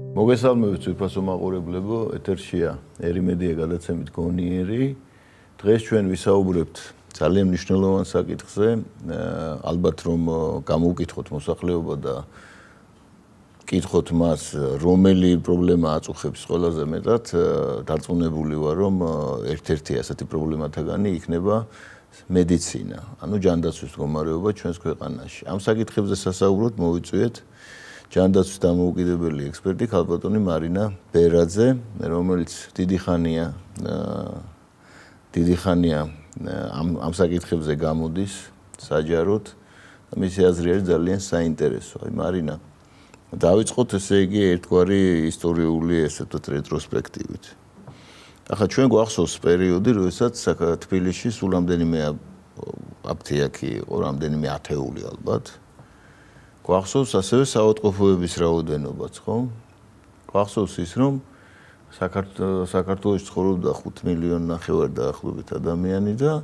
მოგესალმებით უფასო მაყურებლებო, ეთერშია ერიმედია გადაცემით გონიერი. დღეს ჩვენ ვისაუბრებთ ძალიან მნიშვნელოვან საკითხზე, ალბათ რომ გამოვკითხოთ მოსახლეობა და კითხოთ მას, რომელი პრობლემა აწუხებს ყველაზე მეტად, დარწმუნებული ვარ, რომ ერთ-ერთი ასეთი პრობლემათაგანი იქნება მედიცინა, ანუ ჯანდაცვის მდგომარეობა ჩვენს ქვეყანაში. ამ საკითხებზე სასაუბროდ მოვიწვიეთ ჯანდაცვის დამოუკიდებელი ექსპერტი ქალბატონი მარინა ბერაძე, რომელიც დიდი ხანია ამ საკითხებზე გამოდის საჯაროდ და მისი აზრი არის ძალიან საინტერესო. მარინა, დავიწყოთ ესე იგი ერთგვარი ისტორიული ესე ვთქვათ რეტროსპექტივით. ახლა ჩვენ გვახსოვს პერიოდი, როდესაც თბილისში სულ რამდენიმე აფთიაქი იყო, რამდენიმე ათეული ალბათ. გვახსოვს ასევე საავადმყოფოების რაოდენობაც, ხო? გვახსოვს ის, რომ საქართველოში ცხოვრობდა 5,5 მილიონი დაახლოებით ადამიანი და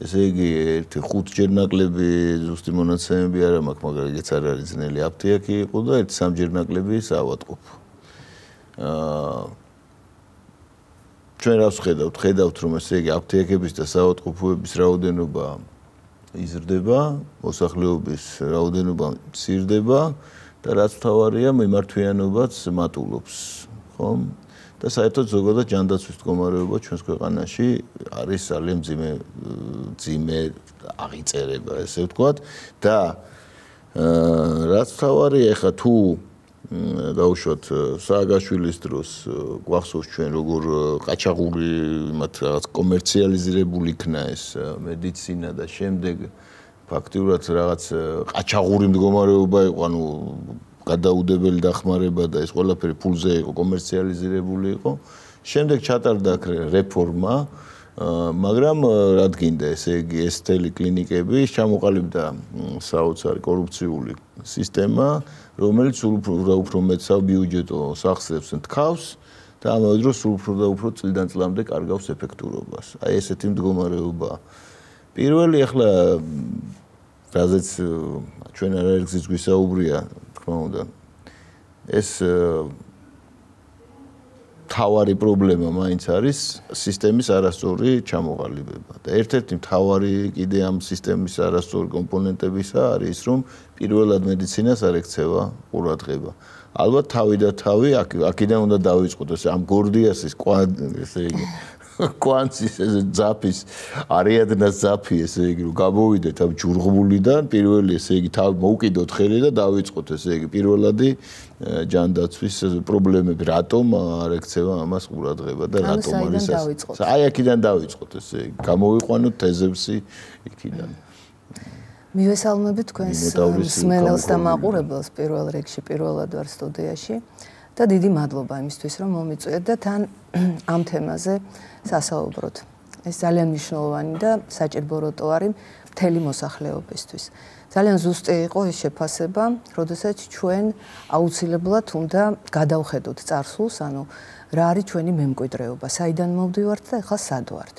ესე იგი ერთი 5 ჯერ ნაკლები ზუსტი მონაცემები არ მაქვს, მაგრამ ეგეც არ არის ძნელი აფთიაქი იყო და ერთი 3 ჯერ ნაკლები საავადმყოფო. ჩვენ რას ხედავთ რომ ესე იგი აფთიაქების და საავადმყოფოების რაოდენობა იზრდება, მოსახლეობის რაოდენობა მცირდება და რაც მთავარია, მიმართვიანობაც მატულობს, ხო? და საერთოდ ზოგადად ჯანდაცვის მდგომარეობა ჩვენს ქვეყანაში არის ძალიან მძიმე აღიწერება, ესე ვთქვათ და რაც მთავარია, ეხლა თუ დავუშვათ სააგაშვილის დროს გვახსოვს ჩვენ როგორ ყაჩაღური იმათ რაღაც კომერციალიზირებული იქნა ეს მედიცინა და შემდეგ ფაქტიურად რაღაც ყაჩაღური მდგომარეობა იყო, ანუ გადაუდებელი დახმარება და ეს ყველაფერი ფულზე იყო კომერციალიზირებული იყო. შემდეგ ჩატარდა რეფორმა, მაგრამ რა გინდა, ესე იგი ეს თელი კლინიკები ჩამოყალიბდა საოცარი კორუფციული სისტემა, რომელიც უფრო მეტ საბიუჯეტო სახსრებს თქავს და ამავე დროს უფრო და უფრო წლიდან წლამდე კარგავს ეფექტურობას. აი ესეთი მდგომარეობა. პირველი ახლა რაზეც ჩვენ არაერთგზის გვისაუბრია, თქმა უნდა, ეს მთავარი პრობლემა მაინც არის სისტემის არასწორი ჩამოყალიბება. და ერთ-ერთი მთავარი კიდე ამ სისტემის არასწორი კომპონენტებისა არის ის, რომ პირველად მედიცინას არ ექცევა ყურადღება. ალბათ თავი აქედან უნდა დავიწყოთ, ესე ამ გორდიასის ესე იგი კვანცის ესე ძაფის არიადნას ძაფი ესე იგი რომ გამოვიდეთ ამ ჯურღბულიდან, პირველი ესე იგი თავი მოუკიდოთ ხელი და დავიწყოთ ესე იგი პირველადი ჯანდაცვის პრობლემები, რატომ არ ექცევა ამას ყურადღება და რატომ არის ეს? აი აქედან დავიწყოთ ესე იგი, გამოვიყვანოთ თეზევსი იქიდან. მივესალმებით თქვენს მსმენელს და მაყურებელს პირველ რიგში, პირველად ვარ სტუდიაში და დიდი მადლობა იმისთვის, რომ მომიწვიეთ და თან ამ თემაზე სასაუბროთ. ეს ძალიან მნიშვნელოვანი და საჭირო როტო არის მთელი მოსახლეობისთვის. ძალიან ზუსტი იყო ეს შეფასება, როდესაც ჩვენ აუცილებლად უნდა გადავხედოთ წარსულს, ანუ რა არის ჩვენი მემკვიდრეობა, საიდან მოვდივართ და ახლა სად ვართ.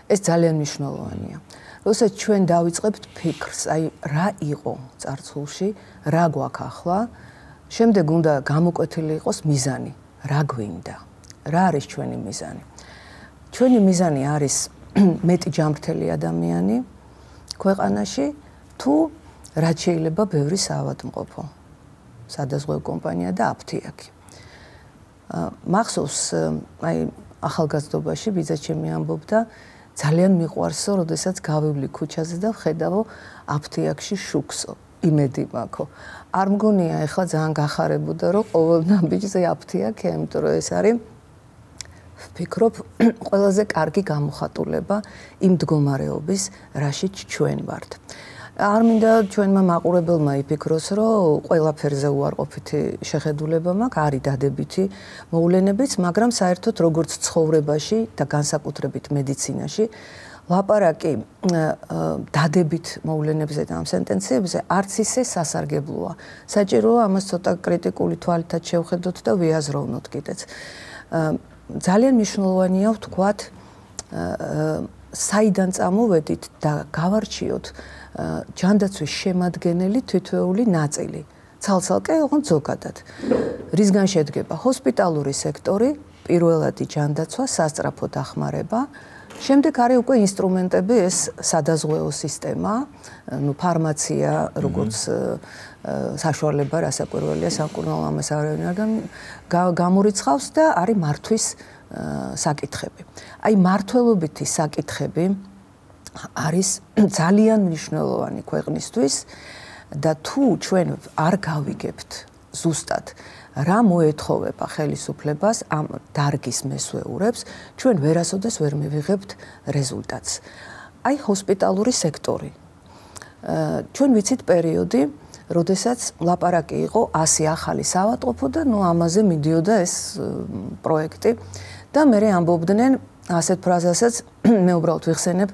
ეს ძალიან მნიშვნელოვანია. როდესაც ჩვენ დავიწყებთ ფიქრს, აი რა იყო წარსულში, რა გვაქვს ახლა, შემდეგ უნდა გამოკვეთილი იყოს მიზანი, რა გვინდა, რა არის ჩვენი მიზანი. ჩვენი მიზანი არის მეტი ჯანმრთელი ადამიანი ქვეყანაში, თუ რაც შეიძლება ბევრი საავადმყოფო, სადაზღვევო კომპანია და აფთიაქი. მახსოვს, აი ახალგაზრდობაში ბიძაჩემი ამბობდა, ძალიან მიყვარსო, როდესაც გავივლი ქუჩაზე და ვხედავო აფთიაქში შუქსო, იმედი მაქვს. არ მგონია ეხლა ძალიან გახარებოდა, რომ ყოველ ნაბიჯზე აფთიაქია, იმიტომ რომ ეს არის ვფიქრობ, ყველაზე კარგი გამოხატულება იმ მდგომარეობის, რაშიც ჩვენ ვართ. არ მინდა ჩვენმა მაყურებელმა იფიქროს, რომ ყველაფერზე უარყოფითი შეხედულება მაქვს, არის დადებითი მოვლენებიც, მაგრამ საერთოდ როგორც ცხოვრებაში და განსაკუთრებით მედიცინაში, ლაპარაკი დადებით მოვლენებზე და ამ სენტენციებზე არც ისე სასარგებლოა. საჭიროა ამას ცოტა კრიტიკული თვალითაც შევხედოთ და ვიაზროვნოთ კიდეც. ძალიან მნიშვნელოვანია ვთქვათ, საიდან წამოვედით და გავარჩიოთ ჯანდაცვის შემადგენელი თითოეული ნაწილი. ცალ-ცალკე, ოღონდ ზოგადად. რისგან შედგება ჰოსპიტალური სექტორი, პირველადი ჯანდაცვა, სასწრაფო დახმარება, შემდეგ არის უკვე ინსტრუმენტები, ეს სადაზღვეო სისტემა, ფარმაცია, როგორც საშუალება, რასაკვირველია, სამკურნალო ამას არავინ არ გამორიცხავს და არის მართვის საკითხები. აი მართველობითი საკითხები არის ძალიან მნიშვნელოვანი ქვეყნისთვის და თუ ჩვენ არ გავიგებთ ზუსტად რა მოეთხოვება ხელისუფლებას ამ დარგის მესვეურებს, ჩვენ ვერასოდეს ვერ მივიღებთ რეზულტატს. აი ჰოსპიტალური სექტორი. ჩვენ ვიცით პერიოდი, როდესაც ლაპარაკი იყო 100 ახალი საავადმყოფო და ამაზე მიდიოდა ეს პროექტი და მე ამბობდნენ ასეთ ფრაზასაც მე უბრალოდ ვიხსენებ,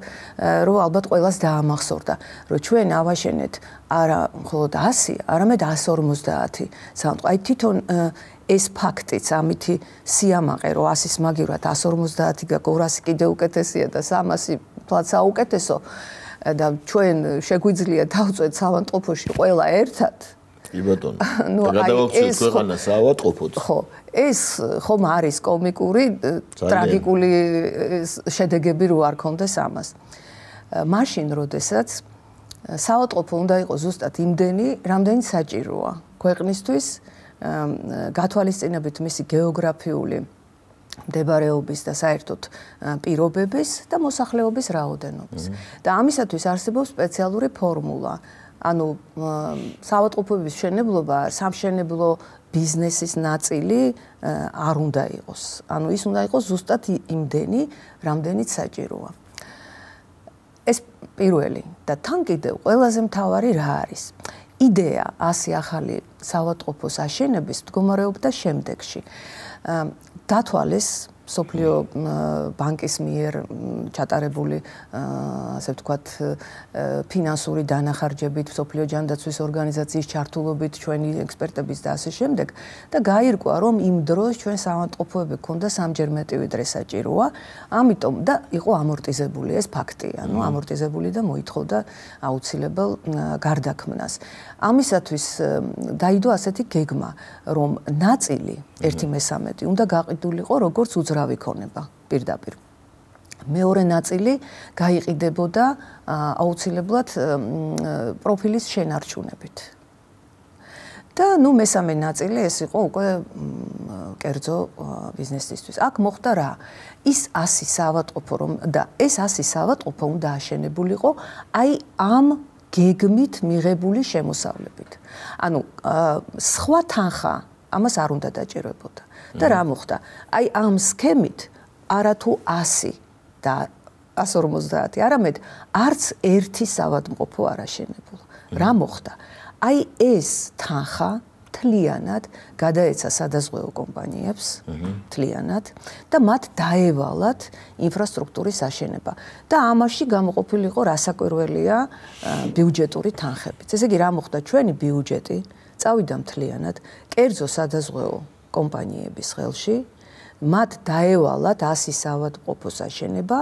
რომ ალბათ ყველას დაამახსოვრდა, რომ ჩვენ ავაშენეთ არა მხოლოდ 100, არამედ 150 საავადმყოფო. აი თვითონ ეს ფაქტიც, ამითი სიამაყე, რომ 100-ის მაგივრად 150 გაკო 200 კიდე უკეთესია და 300 თლაც საუკეთესო და ჩვენ შეგვიძლია დავწვეთ საავადმყოფოში ყველა ერთად. კი ბატონო. გადავაქცევთ ქვეყანას საავადმყოფოდ. ხო, ეს ხომ არის კომიკური, ტრაგიკული შედეგები რო არ ქონდეს ამას. მაშინ, როდესაც საავადმყოფო უნდა იყოს ზუსტად იმდენი, რამდენიც საჭიროა ქვეყნისთვის, გათვალისწინებით მისი გეოგრაფიული მდებარეობის და საერთოდ პირობების და მოსახლეობის რაოდენობის. და ამისათვის არსებობს სპეციალური ფორმულა. ანუ საავადმყოფოების მშენებლობა სამშენებლო ბიზნესის ნაწილი არ უნდა იყოს. ანუ ის უნდა იყოს ზუსტად იმდენი, რამდენიც საჭიროა. ეს პირველი და თან კიდევ ყველაზე მთავარი რა არის? იდეა 100 ახალი საავადმყოფოს აშენების მდგომარეობდა შემდეგში. დათვალეს სოფლიო ბანკის მიერ ჩატარებული ასე ვთქვათ ფინანსური დანახარჯებით, სოფლიო ჯანდაცვის ორგანიზაციის ჩართულობით, ჩვენი ექსპერტების და ასე შემდეგ და გაირკვა, რომ იმ დროს ჩვენ საავადმყოფოები გქონდა სამჯერ მეტი ვიდრე საჭიროა, ამიტომ და იყო ამორტიზებული ეს ფაქტია, ანუ ამორტიზებული და მოითხოვდა აუცილებელ გარდაქმნას. ამისათვის დაიდო ასეთი გეგმა, რომ ნაწილი 1/3 უნდა გაყიდულიყო როგორც უძრავი ქონება პირდაპირ. მეორე ნაწილი გაიყიდებოდა აუცილებლად პროფილის შენარჩუნებით. და მესამე ნაწილი ეს იყო უკვე კერძო ბიზნესისთვის. აქ მოხდა რა? ის 100 საავადმყოფო რომ და ეს 100 საავადმყოფო უნდა აშენებულიყო აი ამ გეგმით მიღებული შემოსავლებით. ანუ სხვა თანხა ამას არ უნდა დაჭირვებოდა. და რა მოხდა? აი ამ სქემით არათუ 100 და 150, არამედ არც ერთი საავადმყოფო არ აშენებულა. რა მოხდა? აი ეს თანხა მთლიანად გადაეცა სადაზღვეო კომპანიებს, მთლიანად და მათ დაევალათ ინფრასტრუქტურის აშენება. და ამაში გამოყოფილიყო რასაკვირველია ბიუჯეტური თანხებიც. ესე იგი რა მოხდა? ჩვენი ბიუჯეტი წავიდა მთლიანად კერძო სადაზღვეო კომპანიების ხელში, მათ დაევალათ 100 საავადმყოფოს აშენება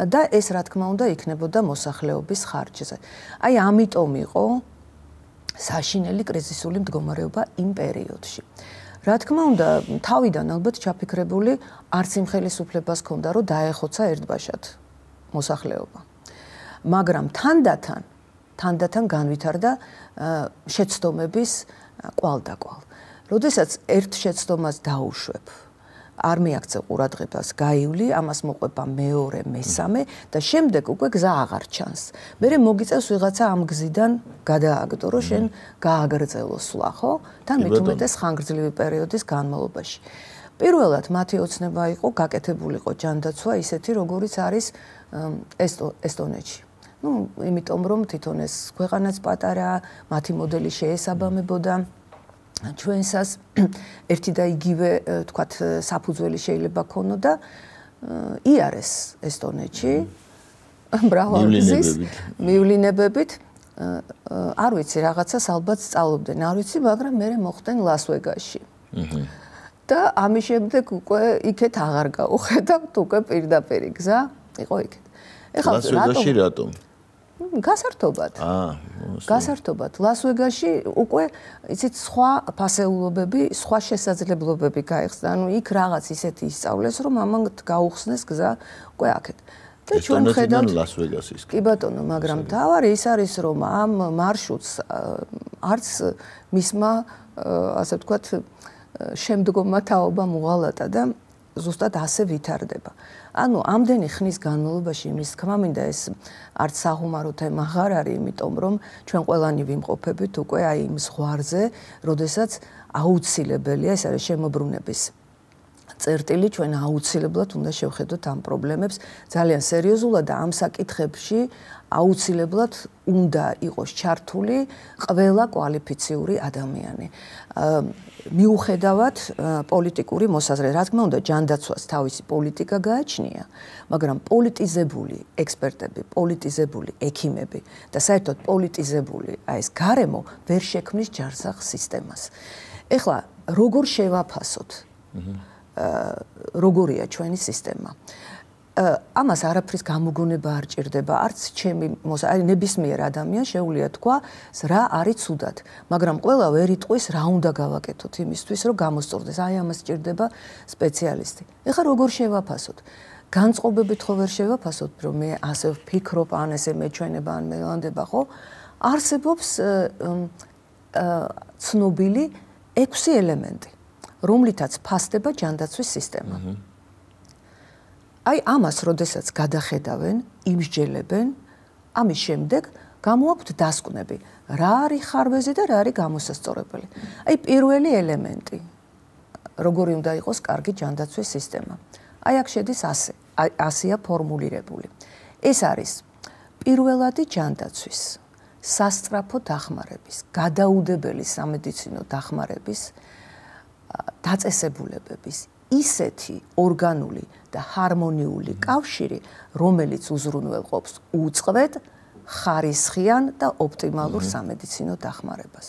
და ეს რა თქმა უნდა იქნებოდა მოსახლეობის ხარჯზე. აი ამიტომ იყო საშინელი კრიზისული მდგომარეობა იმ პერიოდში. რა თქმა უნდა, თავიდან ალბათ ჩაფიქრებული არც იმ ხელისუფლებას ჰქონდა, რომ დაეხოცა ერთბაშად მოსახლეობა. მაგრამ თანდათან განვითარდა შეცდომების კვალდაკვალ. როდესაც ერთ შეცდომას დაუშვებ, არ მიაქცევ ყურადღებას, გაივლი, ამას მოყვება მეორე, მესამე და შემდეგ უკვე გზა აღარ ჩანს. მერე მოგიწევს ვიღაცა ამ გზიდან გადააგდო, რომ შენ გააგრძელო სვლა, ხო? თან მით უმეტეს ხანგრძლივი პერიოდის განმავლობაში. პირველად მათი ოცნება იყო გაკეთებულიყო ჯანდაცვა ისეთი, როგორიც არის ესტონეთში. იმიტომ რომ თვითონ ეს ქვეყანაც პატარა, მათი მოდელი შეესაბამებოდა ჩვენსას ერთი და იგივე თქვათ საფუძველი შეიძლება ქონოდა იარეს ესტონეთში მრავალგზის მივლინებებით არ ვიცი რაღაცას ალბათ სწავლობდნენ არ ვიცი მაგრამ მე მოხდნენ ლას-ვეგასში და ამის შემდეგ უკვე იქეთ აღარ გავუხედავთ უკვე პირდაპირი გზა იყო იქეთ ეხლა ლას-ვეგასში რატომ გასართობად. გასართობად. ლას-ვეგასში უკვე იცით სხვა ფასეულობები, სხვა შესაძლებლობები გაიხსნა. ანუ იქ რაღაც ისეთი ისწავლეს, რომ ამან გაუხსნეს გზა უკვე აქეთ. და ჩვენ ხედავთ ლას-ვეგასის. კი ბატონო, მაგრამ თავარი ის არის, რომ ამ მარშრუტს არც მისმა ასე ვთქვათ შემდგომმა თაობამ უღალატა და ზუსტად ასე ვითარდება. ანუ ამდენი ხნის განმავლობაში იმის თქმა მინდა ეს არც საღუმარო თემა აღარ არის, იმიტომ რომ ჩვენ ყველანი ვიმყოფებით უკვე აი იმ ზღვარზე, როდესაც აუცილებელია ეს არის შემოbrunების წერტილი, ჩვენ აუცილებლად უნდა შევხედოთ ამ პრობლემებს ძალიან სერიოზულად და ამ საკითხებში აუცილებლად უნდა იყოს ჩართული ყველა კვალიფიციური ადამიანი. მიუხედავად პოლიტიკური მოსაზრება, რა თქმა უნდა, ჯანდაცვას თავისი პოლიტიკა გააჩნია, მაგრამ პოლიტიზებული ექსპერტები, პოლიტიზებული ექიმები და საერთოდ პოლიტიზებული ეს გარემო ვერ შექმნის ჯარსაღ სისტემას. ეხლა როგორ შევაფასოთ? როგორია ჩვენი სისტემა? ამას არაფრის გამოგონება არ ჭირდება, არც ჩემი აი ნებისმიერ ადამიანს შეუძლია თქვა რა არის ცუდად, მაგრამ ყველა ვერ იტყვის რა უნდა გავაკეთოთ იმისთვის, რომ გამოსწორდეს. აი ამას ჭირდება სპეციალისტი. ეხლა როგორ შევაფასოთ? განწყობებით ხო ვერ შევაფასოთ, რომ მე ასე ვფიქრობ, ან ესე მეჩვენება, ან მელანდება, ხო? არსებობს ცნობილი 6 ელემენტი, რომლითაც ფასდება ჯანდაცვის სისტემა. აი ამას როდესაც გადახედავენ, იმსჯელებენ, ამის შემდეგ გამოაქვთ დასკვნები, რა არის ხარვეზი და რა არის გამოსასწორებელი. აი პირველი ელემენტი, როგორი უნდა იყოს კარგი ჯანდაცვის სისტემა. აი აქ შედის ასეა ფორმულირებული. ეს არის პირველადი ჯანდაცვის, სასწრაფო დახმარების, გადაუდებელი სამედიცინო დახმარების, დაწესებულებების ისეთი ორგანული და ჰარმონიული კავშირი, რომელიც უზრუნველყოფს უწყვეტ, ხარისხიან და ოპტიმალურ სამედიცინო დახმარებას.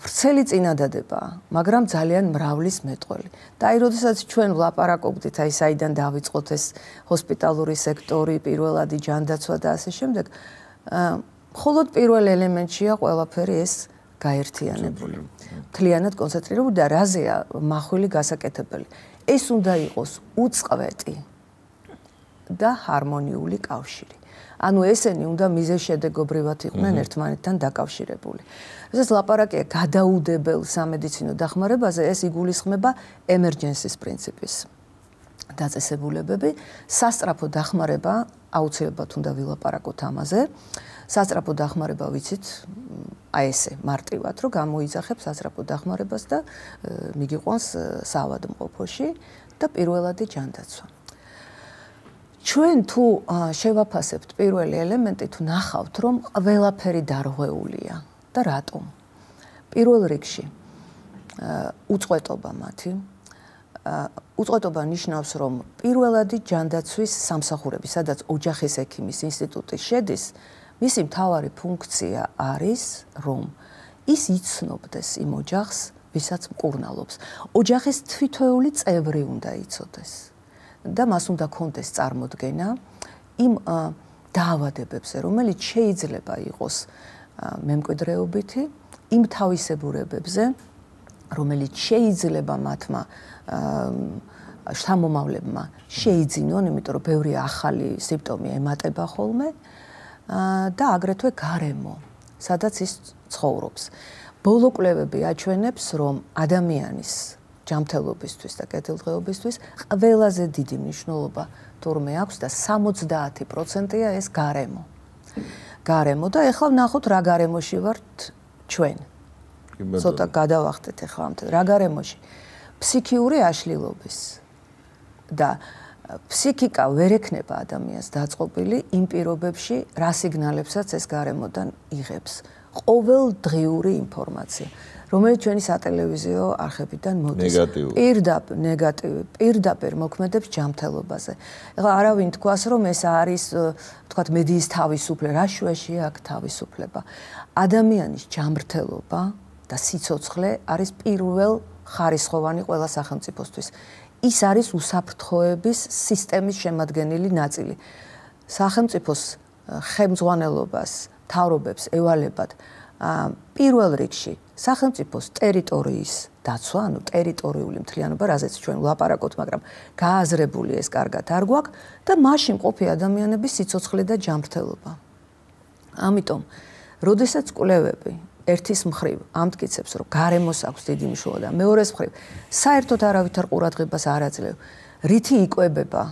ვრცელი წინადადებაა, მაგრამ ძალიან მრავლის მეტყველი. და აი, როდესაც ჩვენ ვლაპარაკობდით, აი საიდან დავიწყოთ ეს ჰოსპიტალური სექტორი, პირველადი ჯანდაცვა და ასე შემდეგ, მხოლოდ პირველ ელემენტშია ყველაფერი ეს გაერთიანებული. მთლიანად კონცენტრირებული და რაზეა მახვილი გასაკეთებელი. ეს უნდა იყოს უწყვეტი და ჰარმონიული კავშირი. ანუ ესენი უნდა მიზეზშედეგობრივად იყვნენ ერთმანეთთან დაკავშირებული. როდესაც ლაპარაკია გადაუდებელ სამედიცინო დახმარებაზე, ეს იგულისხმება ემერჯენსის პრინციპის დაწესებულებები. სასწრაფო დახმარება აუცილებლად უნდა ვილაპარაკოთ ამაზე. სასწრაფო დახმარება ვიცით, აი ესე მარტივად, რომ გამოიძახებს სასწრაფო დახმარებას და მიგიყვანს საავადმყოფოში და პირველადი ჯანდაცვა. ჩვენ თუ შევაფასებთ პირველი ელემენტი, თუ ნახავთ, რომ ყველაფერი დარღვეულია და რატომ? პირველ რიგში უწყვეტობა მათი. უწყვეტობა ნიშნავს, რომ პირველადი ჯანდაცვის სამსახურები, სადაც ოჯახის ექიმის ინსტიტუტი შედის, მისი მთავარი ფუნქცია არის, რომ ის იცნობდეს იმ ოჯახს, ვისაც მკურნალობს. ოჯახის თვითეული წევრი უნდა იცოდეს და მას უნდა ქონდეს წარმოდგენა იმ დაავადებებზე, რომელიც შეიძლება იყოს მემკვიდრეობითი, იმ თავისებურებებზე, რომელიც შეიძლება მათმა შთამომავლებმა შეიძინონ, იმიტომ რომ ბევრი ახალი სიმპტომი ემატება ხოლმე. და აგრეთვე გარემო, სადაც ის ცხოვრობს. ბოლო კვლევები აჩვენებს, რომ ადამიანის ჯანმრთელობისთვის და კეთილდღეობისთვის ყველაზე დიდი მნიშვნელობა თურმე აქვს და 70%-ია ეს გარემო. გარემო და ეხლა ვნახოთ რა გარემოში ვართ ჩვენ. ცოტა გადავახტეთ ეხლა ამ რა გარემოში? ფსიქიური აშლილობის და ფსიქიკა ვერ ექნება ადამიანს დაწყობილი იმ პირობებში, რა სიგნალებსაც ეს გარემოდან იღებს. ყოველდღიური ინფორმაცია, რომელიც ჩვენი სატელევიზიო არხებიდან მოდის. პირდაპირ მოქმედებს ჯანმრთელობაზე. ეხლა არავინ თქვას, რომ ეს არის, თქვათ, მედიის თავისუფლება, რა შუაში აქ თავისუფლება. ადამიანის ჯანმრთელობა და სიცოცხლე არის პირველ ხარისხოვანი ყველა სახელმწიფოსთვის. ის არის უსაფრთხოების სისტემის შემადგენელი ნაწილი. სახელმწიფოს ხელმძღვანელობას, მთავრობებს ევალებათ პირველ რიგში სახელმწიფოს ტერიტორიის დაცვა, ანუ ტერიტორიული მთლიანობა, რაზეც ჩვენ ვლაპარაკობთ, მაგრამ გააზრებული ეს კარგად არ გვაქვს და მაშინ ყოფი ადამიანების სიცოცხლე და ჯანმრთელობა. ამიტომ, როდესაც კვლევები ერთის მხრივ ამტკიცებს, რომ გარემოს აქვს დიდი მნიშვნელობა და მეორეს მხრივ საერთოდ არავითარ ყურადღებას არ აძლევ, რითი იკვებება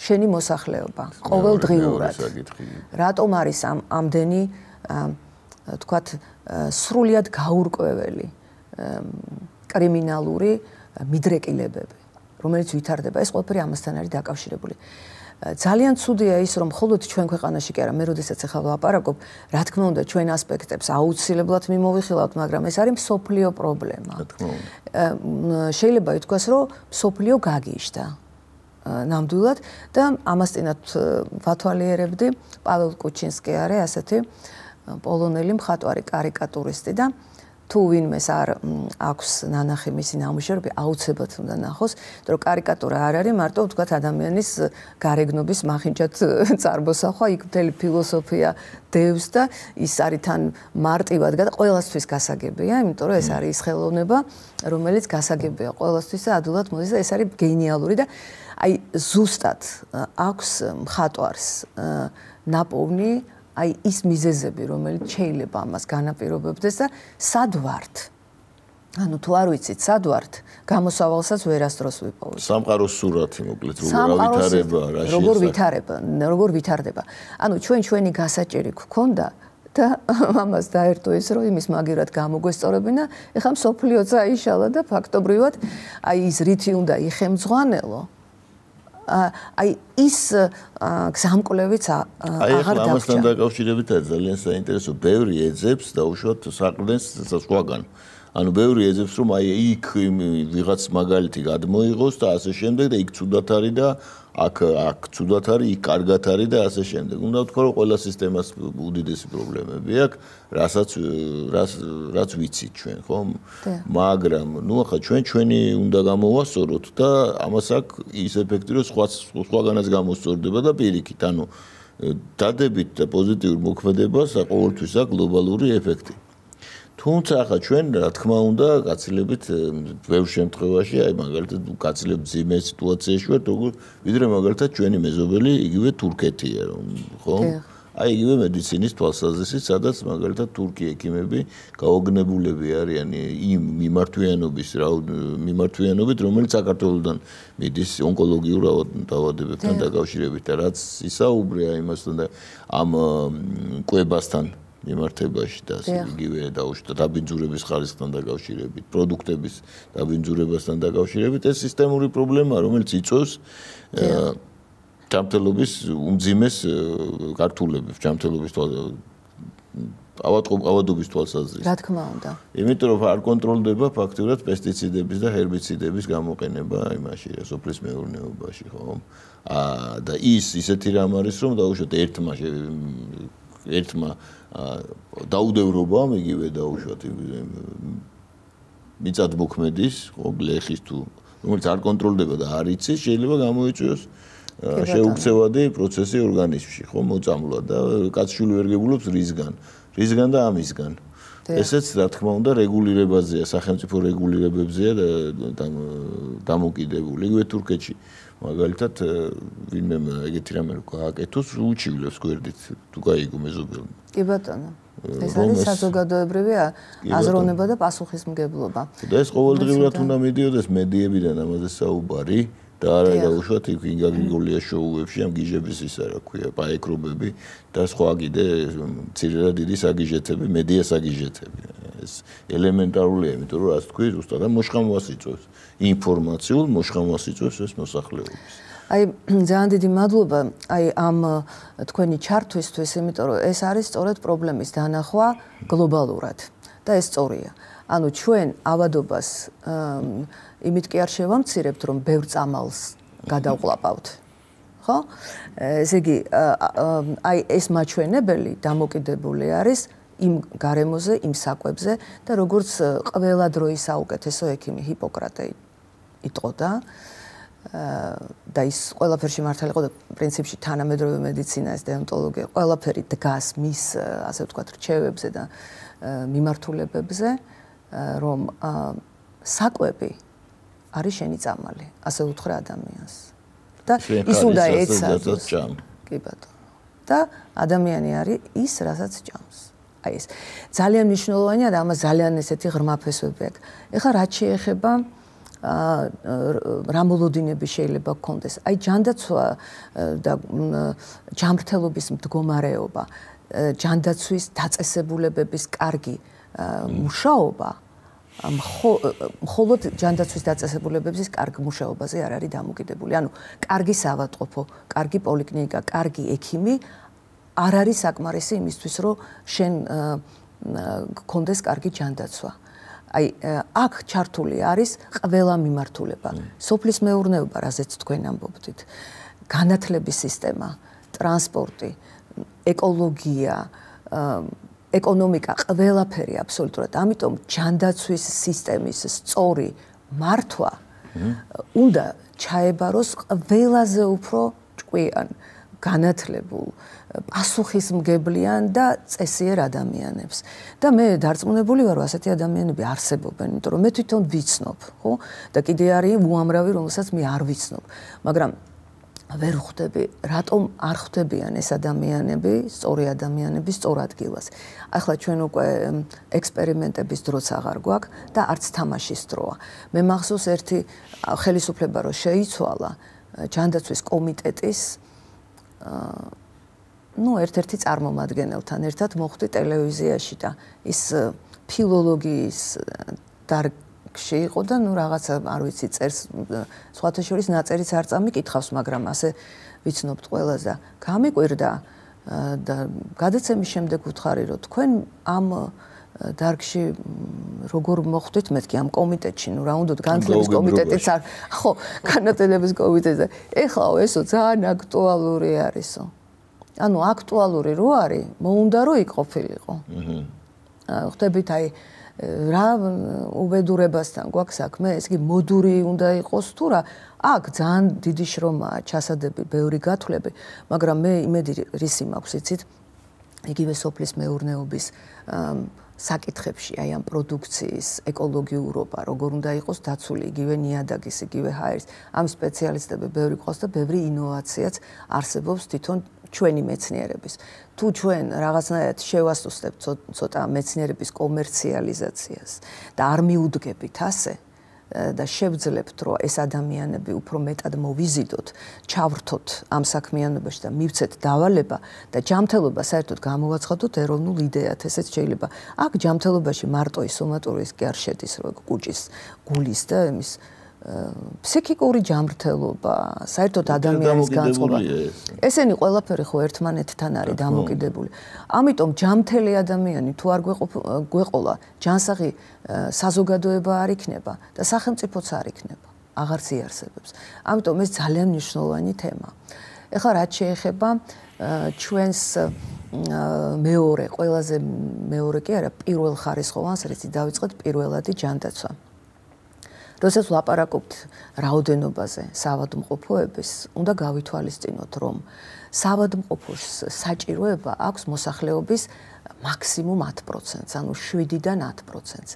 შენი მოსახლეობა ყოველდღიურად. რატომ არის ამდენი თქვათ სრულიად გაურკვეველი კრიმინალური მიდრეკილებები, რომელიც ვითარდება, ეს ყველაფერი ამასთან არის დაკავშირებული. ძალიან ცუდია ის, რომ მხოლოდ ჩვენ ქვეყანაში კი არა, მე როდესაც ახლა ვლაპარაკობ, რა თქმა უნდა, ჩვენ ასპექტებს აუცილებლად მიმოვიხილავთ, მაგრამ ეს არის მსოფლიო პრობლემა. შეიძლება ითქვას, რომ მსოფლიო გაგიჟდა ნამდვილად და ამასთანავ ვათვალიერებდი პაվել კუჩინსკი არის ასეთი პოლონელი მხატვარი, კარიკატურისტი და თუ ვინმეს არ აქვს ნანახი მისი ნამუშევრები, აუცილებლად უნდა ნახოს, იმიტომ რომ კარიკატურა არ არის მარტო ვთქვათ ადამიანის გარეგნობის მახინჯად წარმოსახვა, იქ მთელი ფილოსოფია დევს და ის არის თან მარტივად და ყველასთვის გასაგებია, იმიტომ რომ ეს არის ის ხელოვნება, რომელიც გასაგებია ყველასთვის და ადვილად მოდის და ეს არის გენიალური და აი ზუსტად აქვს მხატვარს ნაპოვნი აი ის მიზეზები, რომელიც შეიძლება ამას განაპირობებდეს და სად ვართ? ანუ თუ არ ვიცით, სად ვართ, გამოსავალსაც ვერასდროს ვიპოვოთ. სამყაროს სურათი მოკლედ, როგორ ვითარდება. ანუ ჩვენი გასაჭირი გქონდა და ამას დაერთო ის, რომ იმის მაგივრად გამოგვესწორებინა, ეხლა მსოფლიო წაიშალა და ფაქტობრივად აი ის რითი უნდა იხემძღვანელო. აი ის გზამკვლევიც აღარ დაგვრჩა. ამასთან დაკავშირებით ძალიან საინტერესო, ბევრი ეძებს დაუშვათ საყრდენს სხვაგან. ანუ ბევრი ეძებს, რომ აი იქ ვიღაც მაგალითი გადმოიღოს და ასე შემდეგ და იქ ცუდად არის და აქ ცუდად არის, იქ კარგად არის და ასე შემდეგ. უნდა ვთქვა, რომ ყველა სისტემას უდიდესი პრობლემები აქვს, რაც ვიცით ჩვენ, ხო? მაგრამ ნუ ახლა ჩვენი უნდა გამოვასწოროთ და ამას აქვს ის ეფექტი, რომ სხვაგანაც გამოსწორდება და პირიქით, ანუ დადებით და პოზიტიურ მოქმედებას ყოველთვის აქვს გლობალური ეფექტი. თუმცა ახლა ჩვენ რა თქმა უნდა გაცილებით ბევრ შემთხვევაში აი მაგალითად გაცილებით ძიმე სიტუაციაში ვართ ვიდრე მაგალითად ჩვენი მეზობელი იგივე თურქეთია ხო აი იგივე მედიცინის თვალსაზრისით სადაც მაგალითად თურქი ექიმები გაოგნებულები არიან იმ მიმართვიანობით რომელიც საქართველოსთან მიდის ონკოლოგიურ დაავადებებთან დაკავშირებით და რაც ისაუბრია იმასთან და ამ კვებასთან მიმართებაში და იგივე დაუშვათ დაბინძურების ხარისხთან დაკავშირებით, პროდუქტების დაბინძურებასთან დაკავშირებით, ეს სისტემური პრობლემაა, რომელიც იწვევს ჯანმრთელობის უმძიმეს გართულებას, ჯანმრთელობის ავადობის თვალსაზრისით. რა თქმა უნდა. იმიტომ რომ არ კონტროლდება ფაქტურად პესტიციდების და ჰერბიციდების გამოყენება იმაში, სოფლის მეურნეობაში, ხო? და ისეთი რამ არის, რომ დაუშვათ ერთმა დაუდევრობამ იგივე დაუშვათ მიწადმოქმედის ხო გლეხის თუ რომელიც არ კონტროლდება და არ იცის შეიძლება გამოიწვიოს შეუქცევადი პროცესი ორგანიზმში ხო მოწამლა და კაცშული ვერ გებულობს რისგან და ამისგან ესეც რა თქმა უნდა რეგულირებაზეა სახელმწიფო რეგულირებებზეა დამოკიდებული იგივე თურქეთში მაგალითად ვინმე ეგეთი რამე გააკეთოს უჩივლებს გვერდით თუ გაიგო მეზობელი კი ბატონო ეს არის საზოგადოებრივი აზროვნება და პასუხისმგებლობა და ეს ყოველდღიურად უნდა მიდიოდეს მედიებიდან ამაზე საუბარი და არა დაუშვათ იქ ინგა გრიგოლიას შოუებში ამ გიჟების ისა რა ქვია პაეკრობები და სხვა კიდე მცირე და დიდი საგიჟეთები მედია საგიჟეთები ეს ელემენტარულია იმიტომ რომ რაც თქვი ზუსტად მოშხამვას იწვევს ინფორმაციულ მოშხამვას იწვევს ეს მოსახლეობის აი ძალიან დიდი მადლობა აი ამ თქვენი ჩართვისთვის იმიტომ რომ ეს არის სწორედ პრობლემის დანახვა გლობალურად და ეს სწორია ანუ ჩვენ ავადობას იმით კი არ შევამცირებთ რომ ბევრ წამალს გადავყლაპავთ ხო ესე იგი აი ეს მაჩვენებელი დამოკიდებული არის იმ გარემოზე იმ საკვებზე და როგორც ყველა დროის საუკეთესო ექიმი ჰიპოკრატე იტყოდა და ის ყველაფერში მართალი იყო და პრინციპში თანამედროვე მედიცინა ეს დეონტოლოგია ყველაფერი დგას მის ასე ვთქვათ რჩევებზე და მიმართულებებზე რომ საკვები არის შენი წამალი ასე უთხრა ადამიანს და ის უნდა ეცადოს კი ბატონო და ადამიანი არის ის რასაც ჭამს აი ეს ძალიან მნიშვნელოვანია და ამას ძალიან ესეთი ღრმაფესვები აქვს ეხლა რაც შეეხება რა მოლოდინები შეიძლება გქონდეს აი ჯანდაცვა და ჯანმრთელობის მდგომარეობა ჯანდაცვის დაწესებულებების კარგი მუშაობა მხოლოდ ჯანდაცვის დაწესებულებების კარგი მუშაობაზე არ არის დამოკიდებული ანუ კარგი საავადმყოფო კარგი პოლიკლინიკა კარგი ექიმი არ არის საკმარისი იმისთვის რომ შენ გქონდეს კარგი ჯანდაცვა აი აქ ჩართული არის ყველა მიმართულება სოფლის მეურნეობა რაზეც თქვენ ამბობთ განათლების სისტემა ტრანსპორტი ეკოლოგია ეკონომიკა ყველაფერი აბსოლუტურად ამიტომ ჯანდაცვის სისტემის სწორი მართვა უნდა ჩაებაროს ყველაზე უფრო ჭკვიან განათლებულ პასუხისმგებლიან და წესიერ ადამიანებს და მე დარწმუნებული ვარ რომ ასეთი ადამიანები არსებობენ იმიტომ რომ მე თვითონ ვიცნობ ხო და კიდე არის უამრავი რომელსაც მე არ ვიცნობ მაგრამ ვერ ხვდები რატომ არ ხვდებიან ეს ადამიანები სწორი ადამიანები სწორ ადგილას ახლა ჩვენ უკვე ექსპერიმენტების დროც აღარ გვაქვს და არც თამაშის დროა მე მახსოვს ერთი ხელისუფლება რო შეიცვალა ჯანდაცვის კომიტეტის ერთ-ერთი წარმომადგენელთან ერთად მოხვდი ტელევიზიაში და ის ფილოლოგიის დარგში იყო და რაღაცა არ ვიცი წერს სხვათა შორის ნაწერიც არ წამიკითხავს მაგრამ ასე ვიცნობთ ყველას და გამიკვირდა და გადაცემის შემდეგ ვუთხარი რომ თქვენ ამ დარგში როგორ მოხვდით მეთქი ამ კომიტეტში რა უნდა განათლების კომიტეტიც არ ხო განათლების კომიტეტზე ეხლა ესო ძალიან აქტუალური არისო ანუ აქტუალური რო არის მოუნდა რომ იყოფილიყო ხვდებით აი რა უბედურებასთან გვაქვს საქმე ეს კი მოდური უნდა იყოს თუ რა აქ ძალიან დიდი შრომაა ჩასადები ბევრი გათვლები მაგრამ მე იმედი რისი მაქვს იცით იგივე სოფლის მეურნეობის საკითხებში აი ამ პროდუქციის ეკოლოგიურობა როგორ უნდა იყოს დაცული იგივე ნიადაგის იგივე ჰაერის ამ სპეციალისტები ბევრი ყავს და ბევრი ინოვაციაც არსებობს თვითონ ჩვენი მეცნიერების თუ ჩვენ რაღაცნაირად შევასწავლებთ ცოტა მეცნიერების კომერციალიზაციას და არ მიუდგებით ასე და შევძლებთ რომ ეს ადამიანები უფრო მეტად მოვიზიდოთ, ჩავრთოთ ამ საქმიანობაში და მივცეთ დავალება და ჯანმრთელობა საერთოდ გამოვაცხადოთ ეროვნულ იდეად, ესეც შეიძლება. აქ ჯანმრთელობაში მარტო ის სომატურის კი არ შედის, რომ გუჭის, გულის და იმის ფსიქიკური ჯანმრთელობა, საერთოდ ადამიანის განწყობა. ესენი ყველაფერი ხო ერთმანეთთან არის დამოკიდებული. ამიტომ ჯანმრთელი ადამიანი თუ არ გვეყოლა, ჯანსაღი საზოგადოება არ იქნება და სახელმწიფოც არ იქნება. აღარც იარსებებს. ამიტომ ეს ძალიან მნიშვნელოვანი თემაა. ეხლა რაც შეეხება ჩვენს მეორე, ყველაზე მეორე კი არა, პირველ ხარისხოვანს, რითი დავიწყეთ პირველადი ჯანდაცვა. როდესაც ვლაპარაკობთ რაოდენობაზე საავადმყოფოების, უნდა გავითვალისწინოთ, რომ საავადმყოფოს საჭიროება აქვს მოსახლეობის მაქსიმუმ 10%-ს, ანუ 7-დან 10%-ს.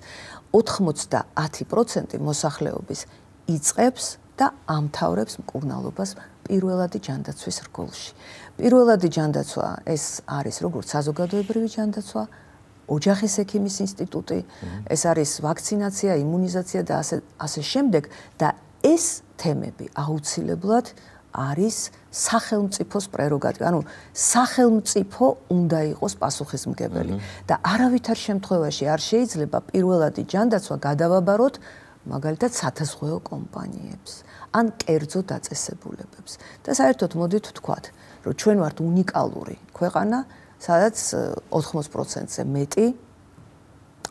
90% მოსახლეობის იწყებს და ამთავრებს მკურნალობას პირველადი ჯანდაცვის რგოლში. პირველადი ჯანდაცვა ეს არის როგორც საზოგადოებრივი ჯანდაცვა, ოჯახის ექიმის ინსტიტუტი, ეს არის ვაქცინაცია, იმუნიზაცია და ასე შემდეგ და ეს თემები აუცილებლად არის სახელმწიფოს პრეროგატივა. ანუ სახელმწიფო უნდა იყოს პასუხისმგებელი და არავითარ შემთხვევაში არ შეიძლება პირველადი ჯანდაცვა გადავაბაროთ მაგალითად სათაზღვეო კომპანიებს ან კერძო დაწესებულებებს. და საერთოდ მოდით ვთქვათ, რომ ჩვენ ვართ უნიკალური ქვეყანა, სადაც 80%-ზე მეტი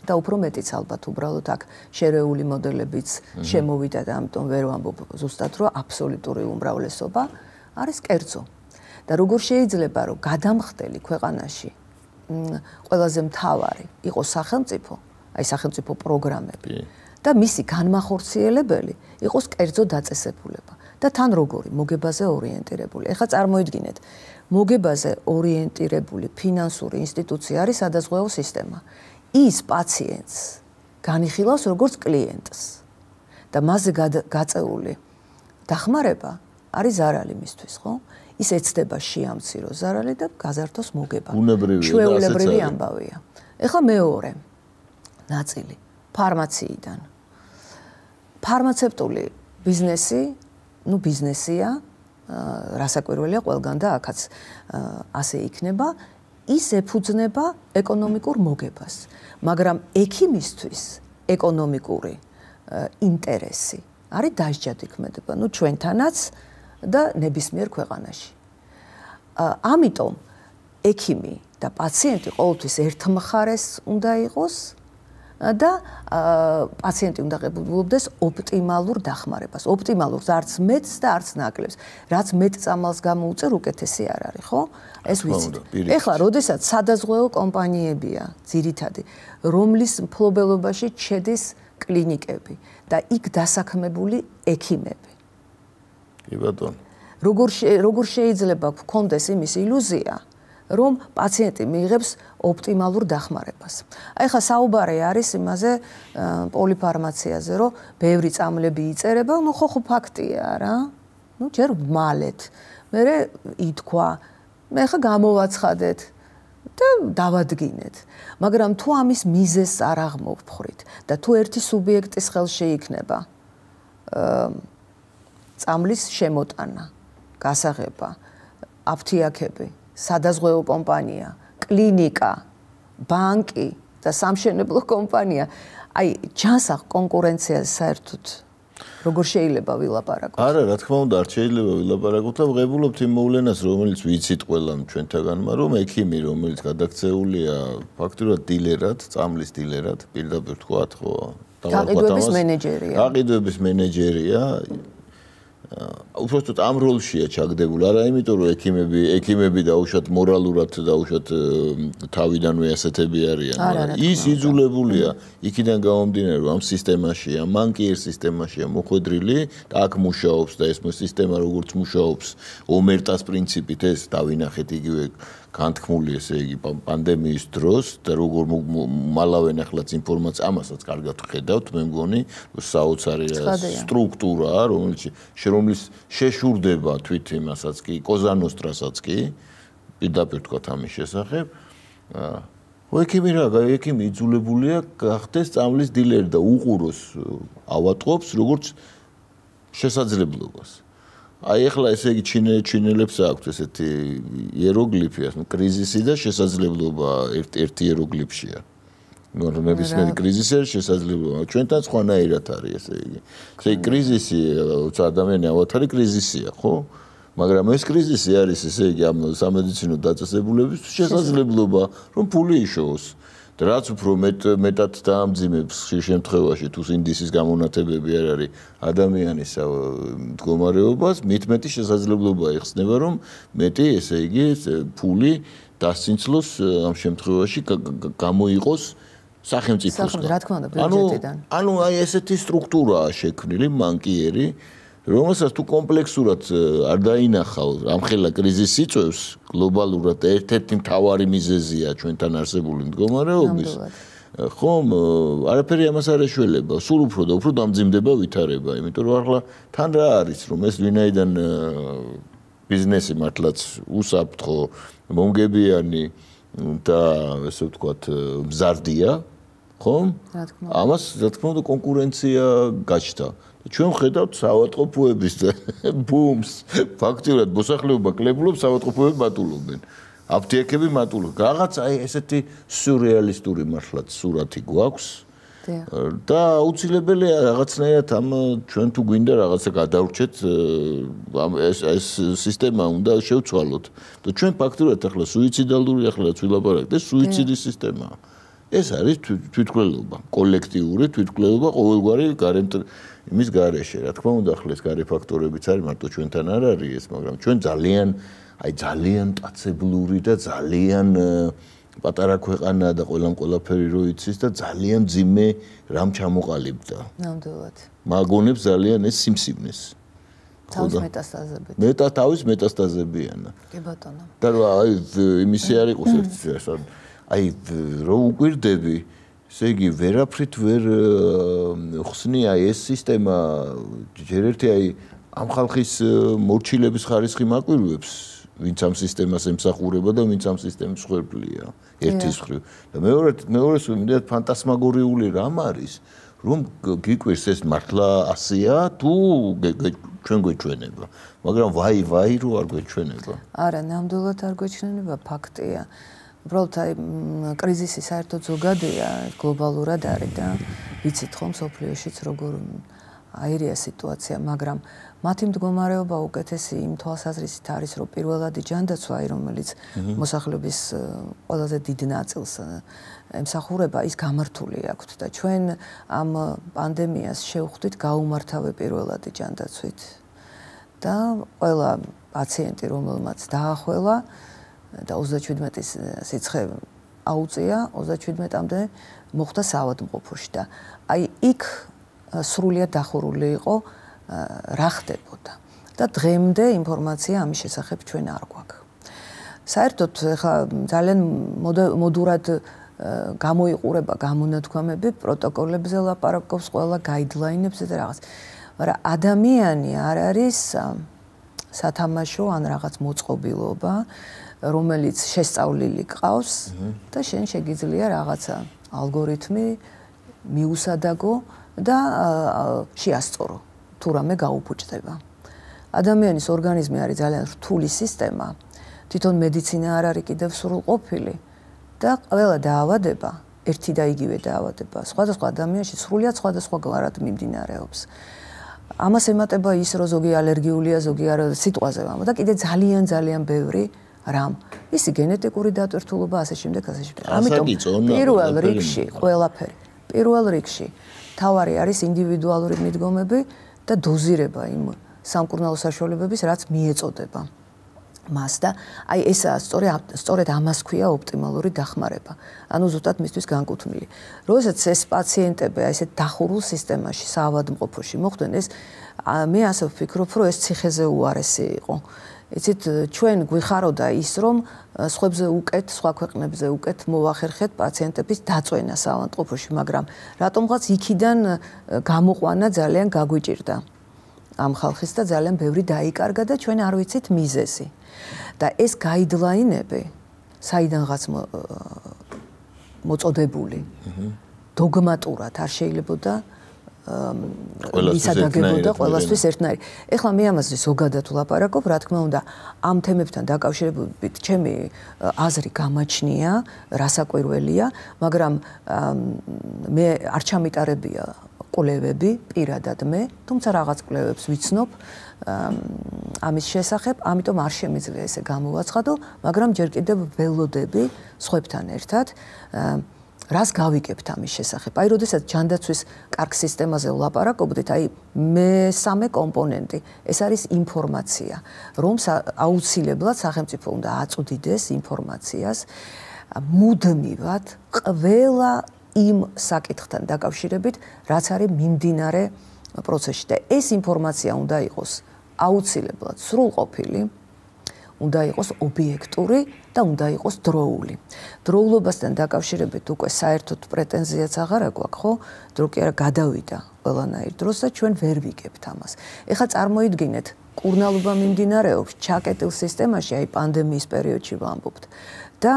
და უფრო მეტიც ალბათ უბრალოდ აქ შერეული მოდელებიც შემოვიდა და ამიტომ ვერ ვამბობ ზუსტად რომ აბსოლუტური უმრავლესობა არის კერძო. და როგორ შეიძლება რომ გადამხდელი ქვეყანაში ყველაზე მთავარი იყოს სახელმწიფო, აი სახელმწიფო პროგრამები და მისი განმახორციელებელი იყოს კერძო დაწესებულება და თან როგორი მოგებაზე ორიენტირებული. ეხლა წარმოიდგინეთ, მოგებაზე ორიენტირებული ფინანსური ინსტიტუცია არის სადაზღვევო სისტემა. ის პაციენტს განიხილავს როგორც კლიენტს და მასზე გაწეული დახმარება არის ზარალი მისთვის, ხო? ის ეცდება შეამცირო ზარალი და გაზარდოს მოგება. ჩვეულებრივი ამბავია. ეხლა მეორე ნაწილი ფარმაციიდან. ფარმაცევტული ბიზნესი, ბიზნესია, რასაკვირველია ყველგან და აქაც ასე იქნება, ის ეფუძნება ეკონომიკურ მოგებას. მაგრამ ექიმისთვის ეკონომიკური ინტერესი არის დასჯადიქმედება, ჩვენთანაც და ნებისმიერ ქვეყანაში. ამიტომ ექიმი და პაციენტი ყოველთვის ერთმხარეს უნდა იყოს და პაციენტი უნდა ღებულობდეს ოპტიმალურ დახმარებას. ოპტიმალურს არც მეტს და არც ნაკლებს. რაც მეტ წამალს გამოუწერ, უკეთესი არ არის, ხო? ეს ვიცით. ეხლა, როდესაც სადაზღვევო კომპანიებია, ძირითადი, რომლის მფლობელობაში შედის კლინიკები და იქ დასაქმებული ექიმები. კი ბატონო. როგორ შეიძლება გქონდეს იმის ილუზია, რომ პაციენტი მიიღებს ოპტიმალურ დახმარებას. აი ხა საუბარი არის იმაზე პოლიფარმაციაზე, რომ ბევრი წამლები იწერება, ხო ფაქტია რა. ჯერ მალეთ. მერე ითქვა, მე ხა გამოვაცხადეთ და დავადგინეთ. მაგრამ თუ ამის მიზეზს არ აღმოვფხრით და თუ ერთი სუბიექტის ხელში იქნება წამლის შემოტანა, გასაღება, აფთიაქები, სადაზღვევო კომპანია, კლინიკა, ბანკი და სამშენებლო კომპანია, აი ჯანსაღ კონკურენციას საერთოდ როგორ შეიძლება ვილაპარაკოთ? არა, რა თქმა უნდა, არ შეიძლება ვილაპარაკოთ და ვღებულობთ იმ მოვლენას, რომელიც ვიცით ყველამ ჩვენთაგანმა, რომ ექიმი, რომელიც გადაქცეულია ფაქტურად დილერად, წამლის დილერად, პირდაპირ თქვათ, ხო? გაყიდვების მენეჯერია. გაყიდვების მენეჯერია. უბრალოდ ამ როლშია ჩაგდებული, არა იმიტომ რომ ექიმები დაუშვათ მორალურად დაუშვათ თავიდანვე ასეთები არიან, ის იძულებულია იქიდან გამომდინარე რომ ამ სისტემაშია, მან კი ერთ სისტემაშია მოხვედრილი და აქ მუშაობს და ეს სისტემა როგორც მუშაობს ომერტას პრინციპით ეს დავინახეთ იგივე განთქმული ესე იგი პანდემიის დროს და როგორ მალავენ ახლაც ინფორმაცია ამასაც კარგად ხედავთ მე მგონი საოცარი სტრუქტურა რომელიც შეშურდება თვით იმასაც კი კოზანოსტრასაც კი პირდაპირ თქვათ ამის შესახებ ექიმი იძულებულია გახდეს წამლის დილერი და უყუროს ავატყობს როგორც შესაძლებლობას აი ახლა ესე იგი ჩინელებს აქვთ ესეთი იეროგლიფი ასე კრიზისი და შესაძლებლობა ერთი იეროგლიფშია ნებისმიერი კრიზისი არის შესაძლებლობა ჩვენთან სხვანაირად არის ესე იგი ესე იგი კრიზისი ადამიანი ავათარი კრიზისია ხო მაგრამ ეს კრიზისი არის ესე იგი ამ სამედიცინო დაწესებულების შესაძლებლობა რომ ფული იშოვოს და რაც უფრო მეტად დაამძიმებს შემთხვევაში თუ ინდისის გამონათებები არ არის ადამიანის მდგომარეობას მით მეტი შესაძლებლობა იხსნება რომ მეტი ესე იგი ფული დასცინცლოს ამ შემთხვევაში გამოიყოს სახელმწიფოსგან რა თქმა უნდა ბიუჯეტიდან ანუ აი ესეთი სტრუქტურაა შექმნილი მანკიერი რომელსაც თუ კომპლექსურად არ დაინახავ ამხელა კრიზისი იწვევს გლობალურად ერთ-ერთი მთავარი მიზეზია ჩვენთან არსებული მდგომარეობის ხომ არაფერი ამას არ ეშველება სულ უფრო და უფრო დამძიმდება ვითარება იმიტომ რომ ახლა თან რა არის რომ ეს ვინაიდან ბიზნესი მართლაც უსაფრთხო მომგებიანი და ესე ვთქვათ მზარდია ხომ ამას რა თქმა უნდა კონკურენცია გაჩნდა ჩვენ ვხედავთ საავადმყოფოების ბუმს ფაქტიურად მოსახლეობა კლებულობს საავადმყოფოები მატულობენ აფთიაქები მატულობენ რაღაც აი ესეთი სიურრეალისტური მართლაც სურათი გვაქვს და აუცილებელია რაღაცნაირად ამ ჩვენ თუ გვინდა რაღაცა გადავრჩეთ ეს სისტემა უნდა შევცვალოთ და ჩვენ ფაქტიურად ახლა სუიციდალური ახლა ვილაპარაკეთ ეს სუიციდის სისტემაა ეს არის თვითმკვლელობა კოლექტიური თვითმკვლელობა ყოველგვარი იმის გარეშე რა თქმა უნდა ახლა ეს გარე ფაქტორებიც არის მარტო ჩვენთან არ არის ეს მაგრამ ჩვენ ძალიან მტაცებლური და ძალიან პატარა ქვეყანა და ყველაფერი რო იცის და ძალიან ძიმე რამ ჩამოყალიბდა. ნამდვილად. მაგონებს ძალიან ეს სიმსივნეს. თავის მეტასტაზებით. თავის მეტასტაზებიანა. კი ბატონო. და აი იმისი არ იყოს ერთ აი რო უკვირდები, ესე იგი ვერაფრით ვერ ხსნია ეს სისტემა ჯერ ერთი აი ამ ხალხის მორჩილების ხარისხი მაკვირვებს, ვინც ამ სისტემას ემსახურება და ვინც ამ სისტემის ხერხლია, ერთის მხრივ. და მეორეს ვიმედად ფანტასმაგორიული რამ არის, რომ გიკვირს ეს მართლა ასეა თუ ჩვენ გვეჩვენება, მაგრამ ვაი რო არ გვეჩვენება. არა, ნამდვილად არ გვეჩვენება, ფაქტია. უბრალოდ აი კრიზისი საერთოდ ზოგადია, გლობალურად არის და ვიცით ხომ სოფლიოშიც როგორ აირია სიტუაცია, მაგრამ მათი მდგომარეობა უკეთესი იმ თვალსაზრისით არის, რომ პირველადი ჯანდაცვა, რომელიც მოსახლეობის ყველაზე დიდ ნაწილს ემსახურება, ის გამართული აქვთ და ჩვენ ამ პანდემიას შევხვდით გაუმართავე პირველადი ჯანდაცვით. და ყველა პაციენტი, რომელმაც დაახველა და 37-ის სიცხე აუწია, 37-მდე მოხვდა საავადმყოფოში და აი იქ სრულიად დახურული იყო რა ხდებოდა და დღემდე ინფორმაცია ამის შესახებ ჩვენ არ გვაქვს. საერთოდ ახლა ძალიან მოდურად გამოიყურება გამონათქვამები, პროტოკოლებზე ლაპარაკობს, ყველა გაიდლაინებზე და რაღაც. მაგრამ ადამიანი არ არის სათამაშო ან რაღაც მოწყობილობა, რომელიც შესწავლილი ყავს და შენ შეგიძლია რაღაცა ალგორითმი მიუსადაგო და შეასწორო თუ რამე გაუფუჭდება. ადამიანის ორგანიზმი არის ძალიან რთული სისტემა, თვითონ მედიცინა არ არის კიდევ სრულყოფილი და ყველა დაავადება, ერთი და იგივე დაავადება, სხვადასხვა ადამიანში სრულიად სხვადასხვაგვარად მიმდინარეობს. ამას ემატება ის, რომ ზოგი ალერგიულია, ზოგი არა, სიტყვაზე ვამბობ და კიდე ძალიან ბევრი რამ. ისი გენეტიკური დატვირთულობა, ასე შემდეგ. ამიტომ პირველ რიგში ყველაფერი. პირველ რიგში თავარი არის ინდივიდუალური მიდგომები და დოზირება იმ სამკურნალო საშუალებების, რაც მიეწოდება მას და აი ესაა სწორედ ამას ქვია ოპტიმალური დახმარება. ანუ ზუსტად მისთვის განკუთვნილი. როდესაც ეს პაციენტები აი ესეთ დახურულ სისტემაში, საავადმყოფოში მოხვდნენ, ეს მე ასე ვფიქრობ, რომ ეს ციხეზე უარესი იყო. იცით, ჩვენ გვიხაროდა ის, რომ სხვებზე უკეთ, სხვა ქვეყნებზე უკეთ მოვახერხეთ პაციენტების დაწვენა საავადმყოფოში, მაგრამ რატომღაც იქიდან გამოყვანა ძალიან გაგვიჭირდა ამ ხალხის და ძალიან ბევრი დაიკარგა და ჩვენ არ ვიცით მიზეზი. და ეს გაიდლაინები საიდანღაც მოწოდებული დოგმატურად არ შეიძლებოდა ისადაგებოდა ყველასთვის ერთნაირი. ეხლა მე ამაზე ზოგადად ვლაპარაკობ, რა თქმა უნდა, ამ თემებთან დაკავშირებით ჩემი აზრი გამაჩნია, რასაკვირველია, მაგრამ მე არ ჩამიტარებია კვლევები პირადად მე, თუმცა რაღაც კვლევებს ვიცნობ ამის შესახებ, ამიტომ არ შემიძლია ესე გამოვაცხადო, მაგრამ ჯერ კიდევ ველოდები სხვებთან ერთად რას გავიგებთ ამის შესახებ. აი, როდესაც ჯანდაცვის კარგ სისტემაზე ვლაპარაკობდით, აი, მესამე კომპონენტი, ეს არის ინფორმაცია, რომ აუცილებლად სახელმწიფო უნდა აწვდიდეს ინფორმაციას მუდმივად ყველა იმ საკითხთან დაკავშირებით, რაც არის მიმდინარე პროცესში და ეს ინფორმაცია უნდა იყოს აუცილებლად სრულყოფილი, უნდა იყოს ობიექტური და უნდა იყოს დროული. დროულობასთან დაკავშირებით უკვე საერთოდ პრეტენზიაც აღარ გვაქვს, ხო? დრო კი არა გადავიდა ყველანაირ დროს და ჩვენ ვერ ვიგებთ ამას. ეხლა წარმოიდგინეთ, კურნალობა მიმდინარეობს ჩაკეტილ სისტემაში, აი პანდემიის პერიოდში ვამბობთ და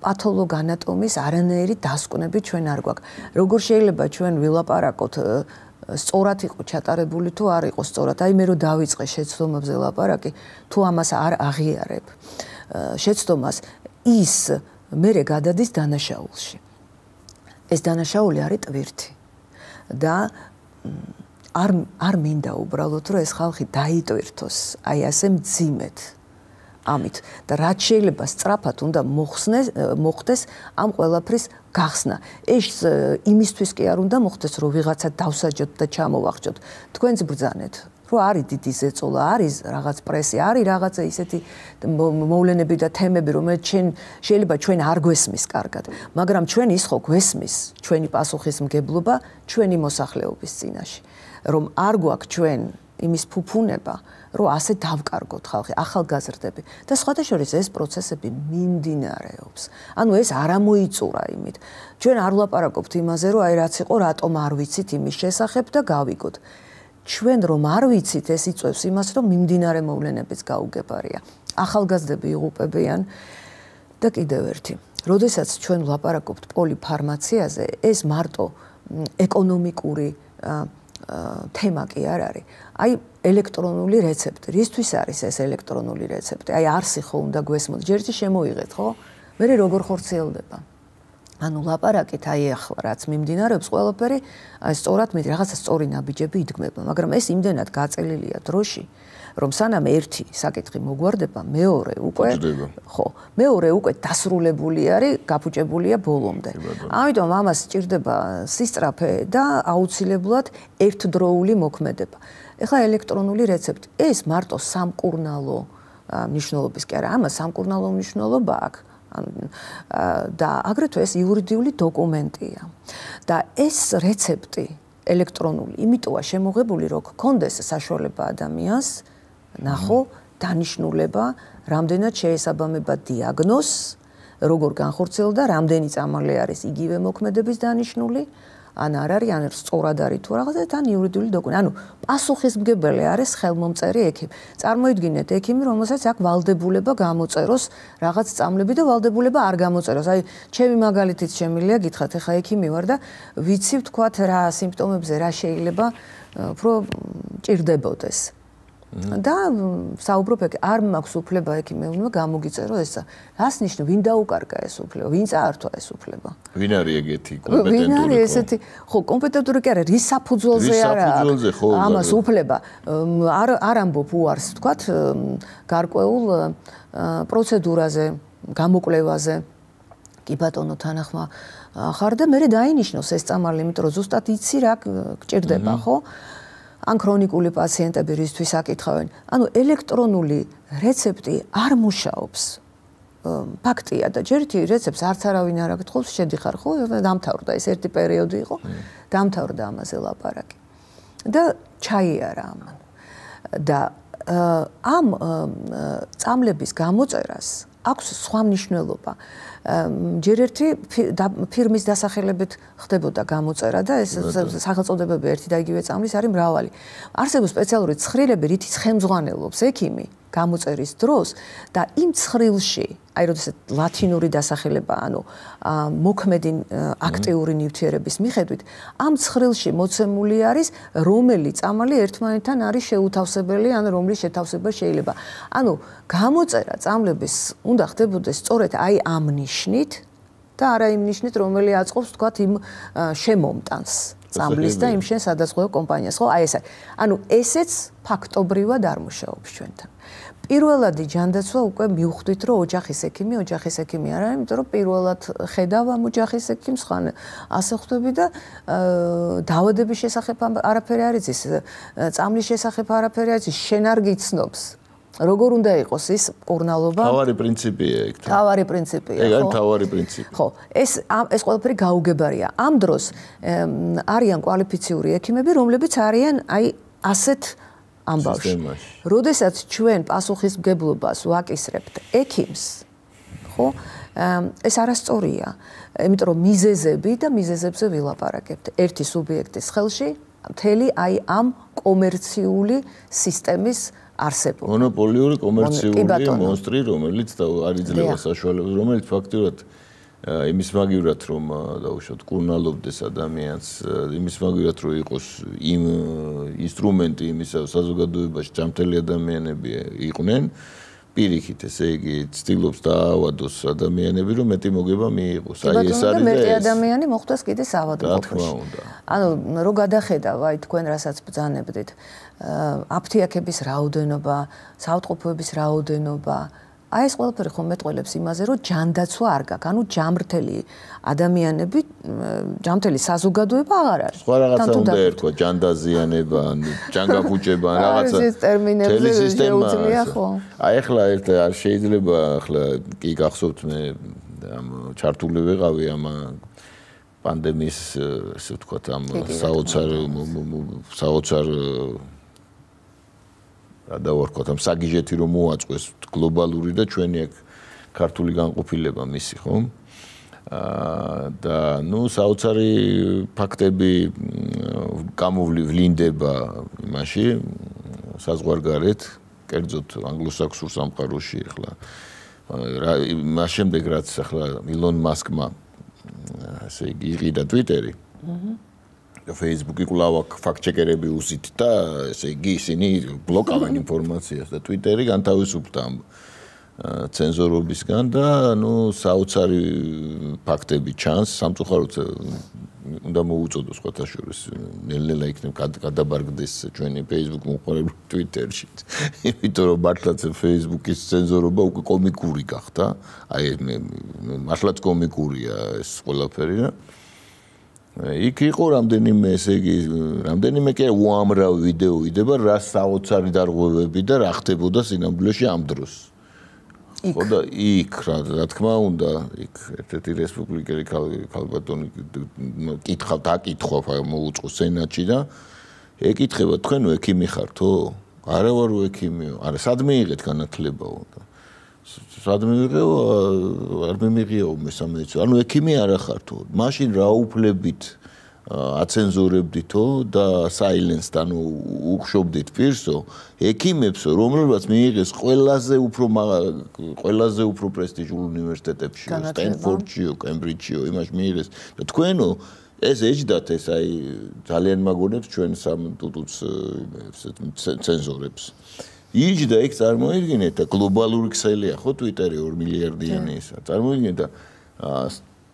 პათოლოგანატომის არანაირი დასკვნები ჩვენ არ გვაქვს. როგორ შეიძლება ჩვენ ვილაპარაკოთ სწორად იყო ჩატარებული თუ არ იყო სწორად. აი მე რო დავიწყე შეცდომებზე ლაპარაკი, თუ ამას არ აღიარებ შეცდომას, ის მერე გადადის დანაშაულში. ეს დანაშაული არის ტვირთი. და არ მინდა უბრალოდ რომ ეს ხალხი დაიტვირთოს, აი ასე მძიმედ. ამით და რაც შეიძლება სწრაფად უნდა მოხდეს ამ ყველაფრის გახსნა. ეს იმისთვის კი არ უნდა მოხდეს, რომ ვიღაცა დავსაჯოთ და ჩამოვახჯოთ. თქვენც ბრძანეთ, რომ არის დიდი ზეწოლა, არის რაღაც პრესი, არის რაღაცა ისეთი მოვლენები და თემები, რომელიც შეიძლება ჩვენ არ გვესმის კარგად, მაგრამ ჩვენ ის ხო გვესმის, ჩვენი პასუხისმგებლობა ჩვენი მოსახლეობის წინაშე, რომ არ გვაქვს ჩვენ იმის ფუფუნება, რომ ასე დავკარგოთ ხალხი, ახალგაზრდები და სხვათა შორის ეს პროცესები მიმდინარეობს. ანუ ეს არ ამოიწურა იმით. ჩვენ არ ვლაპარაკობთ იმაზე, რომ აი რაც იყო, რატომ არ ვიცით იმის შესახებ და გავიგოთ. ჩვენ რომ არ ვიცით, ეს იწვევს იმას, რომ მიმდინარე მოვლენებიც გაუგებარია. ახალგაზრდები იღუპებიან და კიდევ ერთი. როდესაც ჩვენ ვლაპარაკობთ პოლიფარმაციაზე, ეს მარტო ეკონომიკური თემა კი არ არის. აი ელექტრონული რეცეპტი. რისთვის არის ეს ელექტრონული რეცეპტი? აი არსი ხო უნდა გვესმოთ. ჯერ შემოიღეთ, ხო? მე როგორ ხორციელდება? ანუ ლაპარაკით აი ახლა რაც მიმდინარეობს ყველაფერი, აი სწორად მე რაღაცა სწორი ნაბიჯები იდგმება, მაგრამ ეს იმდენად გაწელილია დროში, რომ სანამ ერთი საკითხი მოგვარდება, მეორე უკვე დასრულებული არის, გაფუჭებულია ბოლომდე. ამიტომ ამას სჭირდება სისწრაფე და აუცილებლად ერთდროული მოქმედება. ეხლა ელექტრონული რეცეპტი, ეს მარტო სამკურნალო მნიშვნელობის კი არა, ამას სამკურნალო მნიშვნელობა აქვს. და აგრეთვე ეს იურიდიული დოკუმენტია. და ეს რეცეპტი ელექტრონული იმიტოა შემოღებული, რომ გქონდეს საშუალება ადამიანს ნახო დანიშნულება, რამდენად შეესაბამება დიაგნოზს, როგორ განხორციელდა, რამდენი წამალი არის იგივე მოქმედების დანიშნული, ან არ არის, ან სწორად არის თუ რაღაცა, თან იურიდიული დოკუმენტი. ანუ პასუხისმგებელი არის ხელმომწერი ექიმი. წარმოიდგინეთ ექიმი, რომელსაც აქვს ვალდებულება გამოწეროს რაღაც წამლები და ვალდებულება არ გამოწეროს. აი, ჩემი მაგალითით შემიძლია გითხრათ, ეხა ექიმი ვარ და ვიცი ვთქვათ რა სიმპტომებზე რა შეიძლება უფრო ჭირდებოდეს. და საუბრობ არ მაქვს უფლება ექიმევნმა გამოგიწერო ესა. რას ნიშნავს, ვინ დაუკარგა ეს უფლება, ვინ წაართვა ეს უფლება? ვინ არის ეგეთი კომპეტენტური? ვინ არის ესეთი? ხო, კომპეტენტური კი არა, რის საფუძველზე არა ამას უფლება. არ ამბობ უარს, ვთქვათ, გარკვეულ პროცედურაზე, გამოკვლევაზე. კი ბატონო თანახმა ხარ და მე დაინიშნოს ეს წამალი, იმიტომ რომ ზუსტად იცი რა გჭირდება, ხო? ან ქრონიკული პაციენტები რისთვის აკითხავენ. ანუ ელექტრონული რეცეპტი არ მუშაობს. ფაქტია და ჯერ ერთი რეცეპტს არც არავინ არ აკითხავს, შედიხარ ხო? დამთავრდა ეს ერთი პერიოდი იყო. დამთავრდა ამაზე ლაპარაკი. და ჩაიარა ამან. და ამ წამლების გამოწერას აქვს სხვა მნიშვნელობა. ჯერ ერთი ფირმის დასახელებით ხდებოდა გამოწერა და ეს სახელწოდებები ერთი და იგივე წამლის არის მრავალი. არსებობს სპეციალური ცხრილები, რითიც ხელმძღვანელობს ექიმი გამოწერის დროს და იმ ცხრილში, აი როდესაც ლათინური დასახელება, ანუ მოქმედი აქტიური ნივთიერების მიხედვით, ამ ცხრილში მოცემული არის რომელი წამალი ერთმანეთთან არის შეუთავსებელი, ან რომლის შეთავსება შეიძლება. ანუ გამოწერა წამლების უნდა ხდებოდეს სწორედ აი ამ ნიშნით და არა იმ ნიშნით, რომელი აწყობს თქვათ იმ შემომტანს წამლის და იმ შენ სადაზღვევო კომპანიას, ხო? აი ეს არის. ანუ ესეც ფაქტობრივად არ მუშაობს ჩვენთან. პირველადი ჯანდაცვა უკვე მივხვდით, რომ ოჯახის ექიმი არ არის, იმიტომ რომ პირველად ხედავ ამ ოჯახის ექიმს, ხან ასე ხვდები და დაავადების შესახებ არაფერი არ იცის, წამლის შესახებ არაფერი არ იცის, შენ არ გიცნობს. როგორ უნდა იყოს ის კურნალობა? თავარი პრინციპია ეგ. თავარი პრინციპია, ხო? ეგ არის თავარი პრინციპი. ხო, ეს ყველაფერი გაუგებარია. ამ დროს არიან კვალიფიციური ექიმები, რომლებიც არიან აი ასეთ ამბავში. როდესაც ჩვენ პასუხისმგებლობას ვაკისრებთ ექიმს, ხო? ეს არასწორია, იმიტომ რომ მიზეზები და მიზეზებზე ვილაპარაკებთ. ერთი სუბიექტის ხელში მთელი აი ამ კომერციული სისტემის არსებობა. მონოპოლიური კომერციული მონსტრი, რომელიც არ იძლევა საშუალებას, რომელიც ფაქტურად იმის მაგივრად რომ დაუშვათ კურნალობდეს ადამიანს, იმის მაგივრად რომ იყოს იმ ინსტრუმენტი იმისა საზოგადოებაში ჯანმრთელი ადამიანები იყვნენ, პირიქით, ესე იგი ცდილობს დაავადოს ადამიანები, რომ მეტი მოგება მიიღოს. აი ეს არის და მეტი ადამიანი მოხვდეს კიდე საავადმყოფოში. ანუ რო გადახედავ, აი თქვენ რასაც ბრძანებდით, აფთიაქების რაოდენობა, საავადმყოფოების რაოდენობა აი ეს ყველაფერი ხომ მეტყველებს იმაზე, რომ ჯანდაცვა არ გაქვს. ანუ ჯამრთელი ადამიანები, ჯამრთელი საზოგადოება აღარ არის. სხვა რაღაცა უნდა ერქვა, ჯანდაზიანება, ჯანგაფუჭება, რაღაცა. ეს ტერმინებზე შეუძლია ხო? აი ახლა ერთ არ შეიძლება ახლა კი გახსოვთ მე ამ ჩართული ვიყავი ამ პანდემიის ესე ვთქვათ ამ საოცარ გადავარქვათ ამ საგიჟეთი რომ მოაწყვეს გლობალური და ჩვენი აქ ქართული განყოფილება მისი ხო? და ნუ საოცარი ფაქტები გამოვლინდება იმაში საზღვარგარეთ, კერძოდ ანგლოსაქსონურ სამყაროში ახლა მას შემდეგ რაც ახლა ილონ მასკმა ასე იგი იყიდა Twitter-ი. Facebook-ი კვლავ ფაქტ-ჩეკერები უსით და ესე იგი ისინი ბლოკავენ ინფორმაციას და Twitter-ი განთავისუფლდა ამ ცენზორობისგან და ნუ საოცარი ფაქტები ჩანს სამწუხაროდ უნდა მოუწოდოს სხვათა შორის ნელ-ნელა იქნებ გადაბარგდეს ჩვენი Facebook მომხმარებლები Twitter-ში. იმიტომ რომ მართლაც Facebook-ის ცენზორობა უკვე კომიკური გახდა. აი მართლაც კომიკურია ეს ყველაფერი და იქ იყო რამდენიმე ესე იგი რამდენიმე კი უამრავი ვიდეო იდება რა საოცარი დარღვევები და რა ხდებოდა სინამდვილეში ამ დროს. ხო და იქ რა თქმა უნდა იქ ერთ-ერთი რესპუბლიკელი ქალბატონი დაკითხვა მოუწყო სენატში და ეკითხება თქვენ ექიმი ხართო? არა ვარ ექიმიო. არა სად მიიღეთ განათლებაო? სად მიიღეო? არ მიმიღეო მესამეცო. ანუ ექიმი არა ხართო. მაშინ რა უფლებით აცენზურებდითო და silence-თ ანუ უხშობდით პირსო ექიმებსო რომლებსაც მიიღეს ყველაზე უფრო პრესტიჟულ უნივერსიტეტებში სტენფორდშიო, კემბრიჯშიო იმაში მიიღეს და თქვენო ეს ეჯდათ ეს აი ძალიან მაგონებს ჩვენ სამ ტუტუც ცენზორებს იჯდა იქ წარმოიდგინეთ და გლობალური ქსელია ხო Twitter-ი 2 მილიარდიანი ისა წარმოიდგინეთ და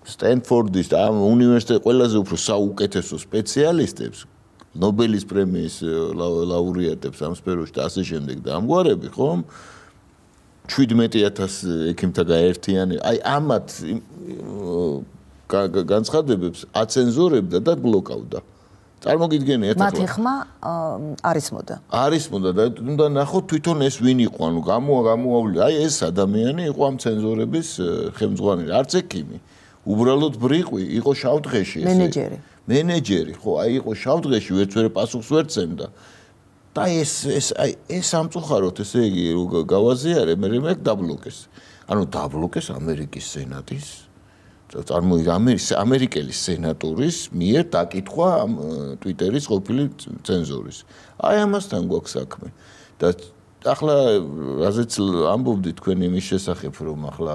სტენფორდის და ამ უნივერსიტეტის ყველაზე უფრო საუკეთესო სპეციალისტებს ნობელის პრემიის ლაურეატებს ამ სფეროში და ასე შემდეგ და ამგვარები ხომ 17000 ექიმთა გაერთიანე აი ამათ განცხადებებს აცენზურებდა და ბლოკავდა წარმოგიდგენიათ ახლა მათი ხმა არის მოდა და უნდა ნახოთ თვითონ ეს ვინ იყო ანუ გამოავლინე აი ეს ადამიანი იყო ამ ცენზორების ხელმძღვანელი არც ექიმი უბრალოდ ბრიყვი იყო შავდღეში ეს მენეჯერი ხო აი იყო შავდღეში ვერცვერე პასუხს ვერ წემდა და ეს სამწუხაროდ ესე იგი გავაზიარე მე დაბლოკეს ანუ დაბლოკეს ამერიკის სენატის ამერიკელი სენატორის მიერ დაკითხვა ამ Twitter-ის ყოფილი ცენზორის აი ამასთან გვაქვს საქმე და ახლა რაზეც ამბობდი თქვენ იმის შესახებ რომ ახლა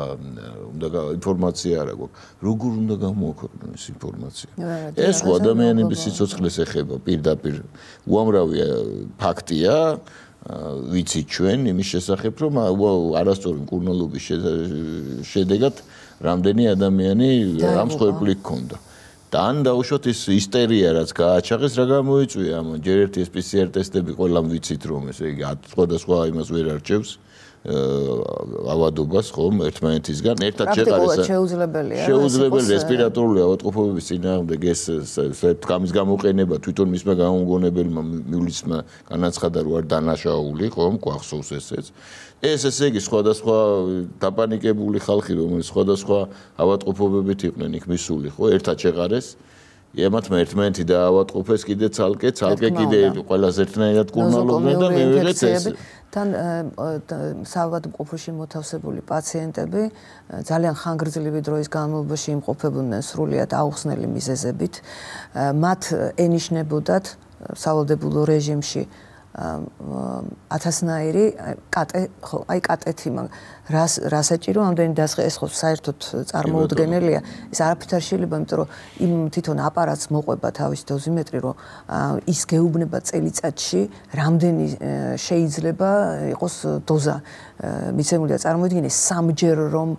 უნდა ინფორმაცია არა გვაქვს როგორ უნდა გამოაქვეყნოს ეს ინფორმაცია ეს ხო ადამიანების სიცოცხლეს ეხება პირდაპირ უამრავი ფაქტია ვიცით ჩვენ იმის შესახებ რომ არასწორი მკურნალობის შედეგად რამდენი ადამიანი ამ მსხვერპლი ჰქონდა და ან დაუშვათ ეს ისტერია რაც გააჩაღეს რა გამოიწვია ამ ჯერ ერთი ეს PCR ტესტები ყველამ ვიცით რომ ესე იგი სხვადასხვა იმას ვერ არჩევს ავადობას ხომ ერთმანეთისგან ერთად შეყარეს შეუძლებელი რესპირატორული ავადმყოფობების წინააღმდეგ ეს თქამის გამოყენება თვითონ მისმა გამომგონებელმა მივლისმა განაცხადა რომ არ დანაშაული ხომ გვახსოვს ესეც ეს ესე იგი სხვადასხვა დაპანიკებული ხალხი რომელიც სხვადასხვა ავადმყოფობებით იყვნენ იქ მისული ხო ერთად შეყარეს ემათმა ერთმანეთი დაავადყოფეს კიდე ცალკე კიდე ყველას ერთნაირად კურნალობდნენ და მივიღეთ ეს თან საავადმყოფოში მოთავსებული პაციენტები ძალიან ხანგრძლივი დროის განმავლობაში იმყოფებოდნენ სრულიად აუხსნელი მიზეზებით მათ ენიშნებოდათ სავალდებულო რეჟიმში 1000-ნაირი კატეთი რა საჭირო ამდენი დასხე ეს ხო საერთოდ წარმოუდგენელია ეს არაფრით არ შეიძლება იმიტომ რომ იმ თვითონ აპარატს მოყვება თავის დოზიმეტრი რომ ის გეუბნება წელიწადში რამდენი შეიძლება იყოს დოზა მიცემული და წარმოიდგინე სამჯერ რომ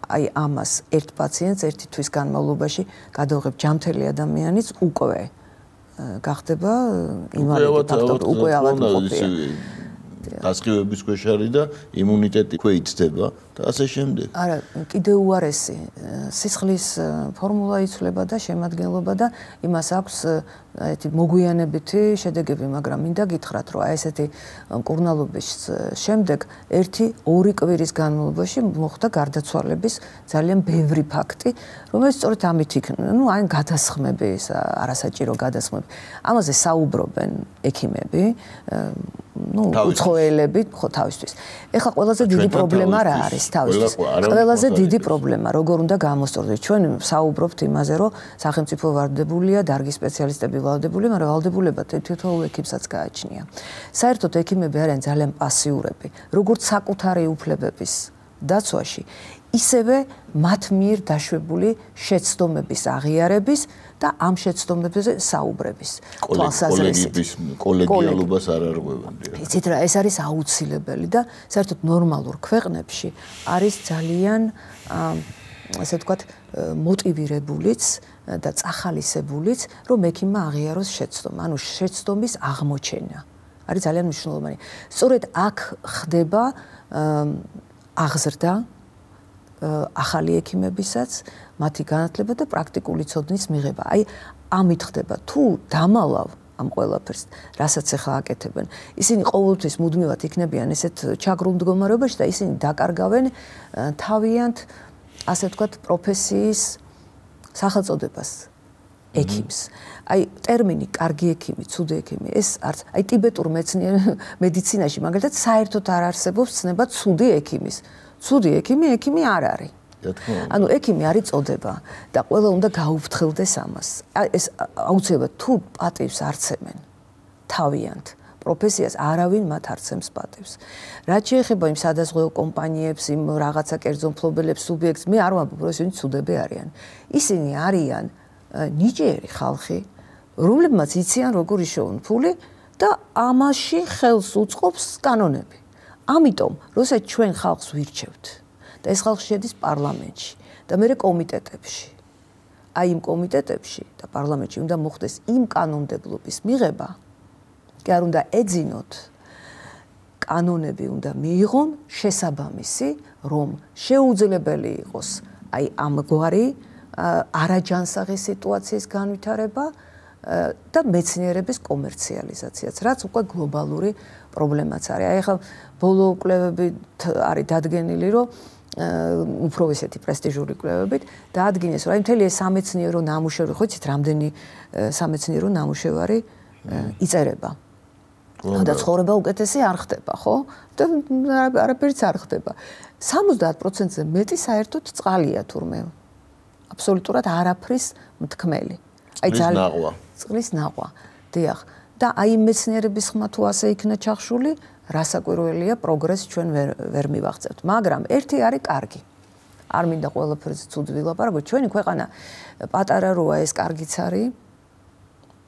აი ამას ერთ პაციენტს ერთი თვის განმავლობაში გადავღებ ჯამთელი ადამიანიც უკვე გახდება ინვალიდი ფაქტორი უკვე ავადმყოფია გასხივების ქვეშ არის და იმუნიტეტი ქვეიცდება და ასე შემდეგ. არა, კიდევ უარესი სისხლის ფორმულა იცვლება და შემადგენლობა და იმას აქვს ესეთი მოგვიანებითი შედეგები, მაგრამ მინდა გითხრათ, რომ აი ესეთი მკურნალობის შემდეგ 1-2 კვირის განმავლობაში მოხდა გარდაცვალების ძალიან ბევრი ფაქტი, რომელიც სწორედ ამით იქნება, აი გადასხმები, არასაჭირო გადასხმები. ამაზე საუბრობენ ექიმები, უცხოელები, ხო თავისთვის. ეხლა ყველაზე დიდი პრობლემა რა არის თავისთვის? ყველაზე დიდი პრობლემა, როგორ უნდა გამოსწორდეს? ჩვენ საუბრობთ იმაზე, რომ სახელმწიფო ვალდებულია, დარგის სპეციალისტები ვალდებულია, მაგრამ ვალდებულება თითოეულ ექიმსაც გააჩნია. საერთოდ ექიმები არიან ძალიან პასიურები, როგორც საკუთარი უფლებების დაცვაში, ისევე მათ მიერ დაშვებული შეცდომების აღიარების და ამ შეცდომებზე საუბრების თვალსაზრისით. კოლეგიალობას არ არღვევენ. იცით რა, ეს არის აუცილებელი და საერთოდ ნორმალურ ქვეყნებში არის ძალიან ასე ვთქვათ მოტივირებულიც და წახალისებულიც, რომ ექიმმა აღიაროს შეცდომა, ანუ შეცდომის აღმოჩენა. არის ძალიან მნიშვნელოვანი. სწორედ აქ ხდება აღზრდა ახალი ექიმებისაც, მათი განათლება და პრაქტიკული ცოდნის მიღება. აი, ამით ხდება. თუ დამალავ ამ ყველაფერს, რასაც ახლა აკეთებენ, ისინი ყოველთვის მუდმივად იქნებიან ესეთ ჩაგრულ მდგომარეობაში და ისინი დაკარგავენ თავიანთ, ასე ვთქვათ, პროფესიის სახელწოდებას ექიმს. აი, ტერმინი კარგი ექიმი, ცუდი ექიმი, ეს არც აი ტიბეტურ მედიცინაში მაგალითად საერთოდ არ არსებობს ცნება ცუდი ექიმის. ცუდი ექიმი არ არის. ანუ ექიმი არის წოდება და ყველა უნდა გაუფრთხილდეს ამას. ეს აუცილებლად თუ პატივს არცემენ თავიანთ პროფესიას, არავინ მათ არცემს პატივს. რაც შეეხება იმ სადაზღვევო კომპანიებს, იმ რაღაცა კერძო მფლობელებს, სუბიექტს, მე არ ვამბობ, რომ ისინი ცუდები არიან. ისინი არიან ნიჭიერი ხალხი, რომლებმაც იციან როგორ იშოვონ ფული და ამაში ხელს უწყობს კანონები. ამიტომ, როცა ჩვენ ხალხს ვირჩევთ და ეს ხალხი შედის პარლამენტში და მერე კომიტეტებში. აი იმ კომიტეტებში და პარლამენტში უნდა მოხდეს იმ კანონმდებლობის მიღება, კი არ უნდა ეძინოთ, კანონები უნდა მიიღონ შესაბამისი, რომ შეუძლებელი იყოს აი ამგვარი არაჯანსაღი სიტუაციის განვითარება და მეცნიერების კომერციალიზაციაც, რაც უკვე გლობალური პრობლემაც არის. აი ახლა ბოლო კვლევებით არის დადგენილი, რომ უფრო ესეთი პრესტიჟული კვლევებით დაადგინეს, რომ აი მთელი ეს სამეცნიერო ნამუშევარი, ხო იცით, რამდენი სამეცნიერო ნამუშევარი იწერება. და ცხოვრება უკეთესი არ ხდება, ხო? და არაფერიც არ ხდება. 70%-ზე მეტი საერთოდ წყალია თურმე. აბსოლუტურად არაფრის მთქმელი. აი ძალიან წყლის ნაყვა. დიახ. და აი მეცნიერების ხმა თუ ასე იქნა ჩახშული, რასაკვირველია პროგრესს ჩვენ ვერ მივაღწევთ. მაგრამ ერთი არის კარგი. არ მინდა ყველაფერზე ცუდ ვილაპარაკო, ჩვენი ქვეყანა პატარა როა, ეს კარგიც არის.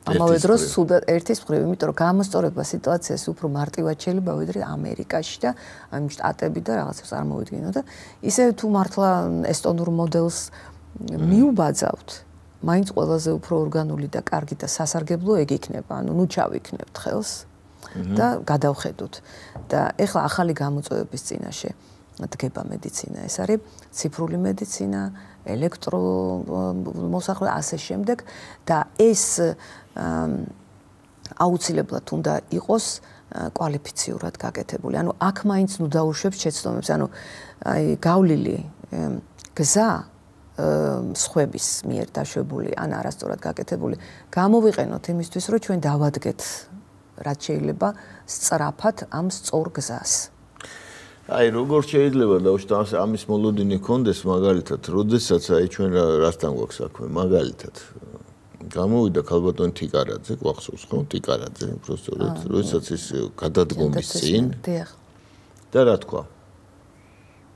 ამავე დროს სუდად ერთის მხრივ, იმიტომ რომ გამოსწორება სიტუაციას უფრო მარტივად შეიძლება ვიდრე ამერიკაში და აი შტატები და რაღაცას წარმოვიდგინო და ისე თუ მართლა ესტონურ მოდელს მიუბაძავთ, მაინც ყველაზე უფრო ორგანული და კარგი და სასარგებლო ეგ იქნება, ანუ ნუ ჩავიქნებთ ხელს და გადავხედოთ. და ეხლა ახალი გამოწვევების წინაშე დგება მედიცინა, ეს არის ციფრული მედიცინა, ელექტრომოსახლე, ასე შემდეგ და ეს აუცილებლად უნდა იყოს კვალიფიციურად გაკეთებული. ანუ აქ მაინც ნუ დაუშვებს შეცდომებს, ანუ აი გავლილი გზა სხვების მიერ დაშვებული ან არასწორად გაკეთებული გამოვიყენოთ იმისთვის, რომ ჩვენ დავადგეთ რაც შეიძლება სწრაფად ამ სწორ გზას. აი როგორ შეიძლება დავუშვათ ამის მოლოდინი კონდეს მაგალითად, როდესაც აი ჩვენ რასთან გვაქვს საქმე, მაგალითად გამოვიდა ქალბატონი თიკარაძე, გვახსოვს ხო? თიკარაძე, უბრალოდ როდესაც ის გადადგომის წინ და რა თქვა?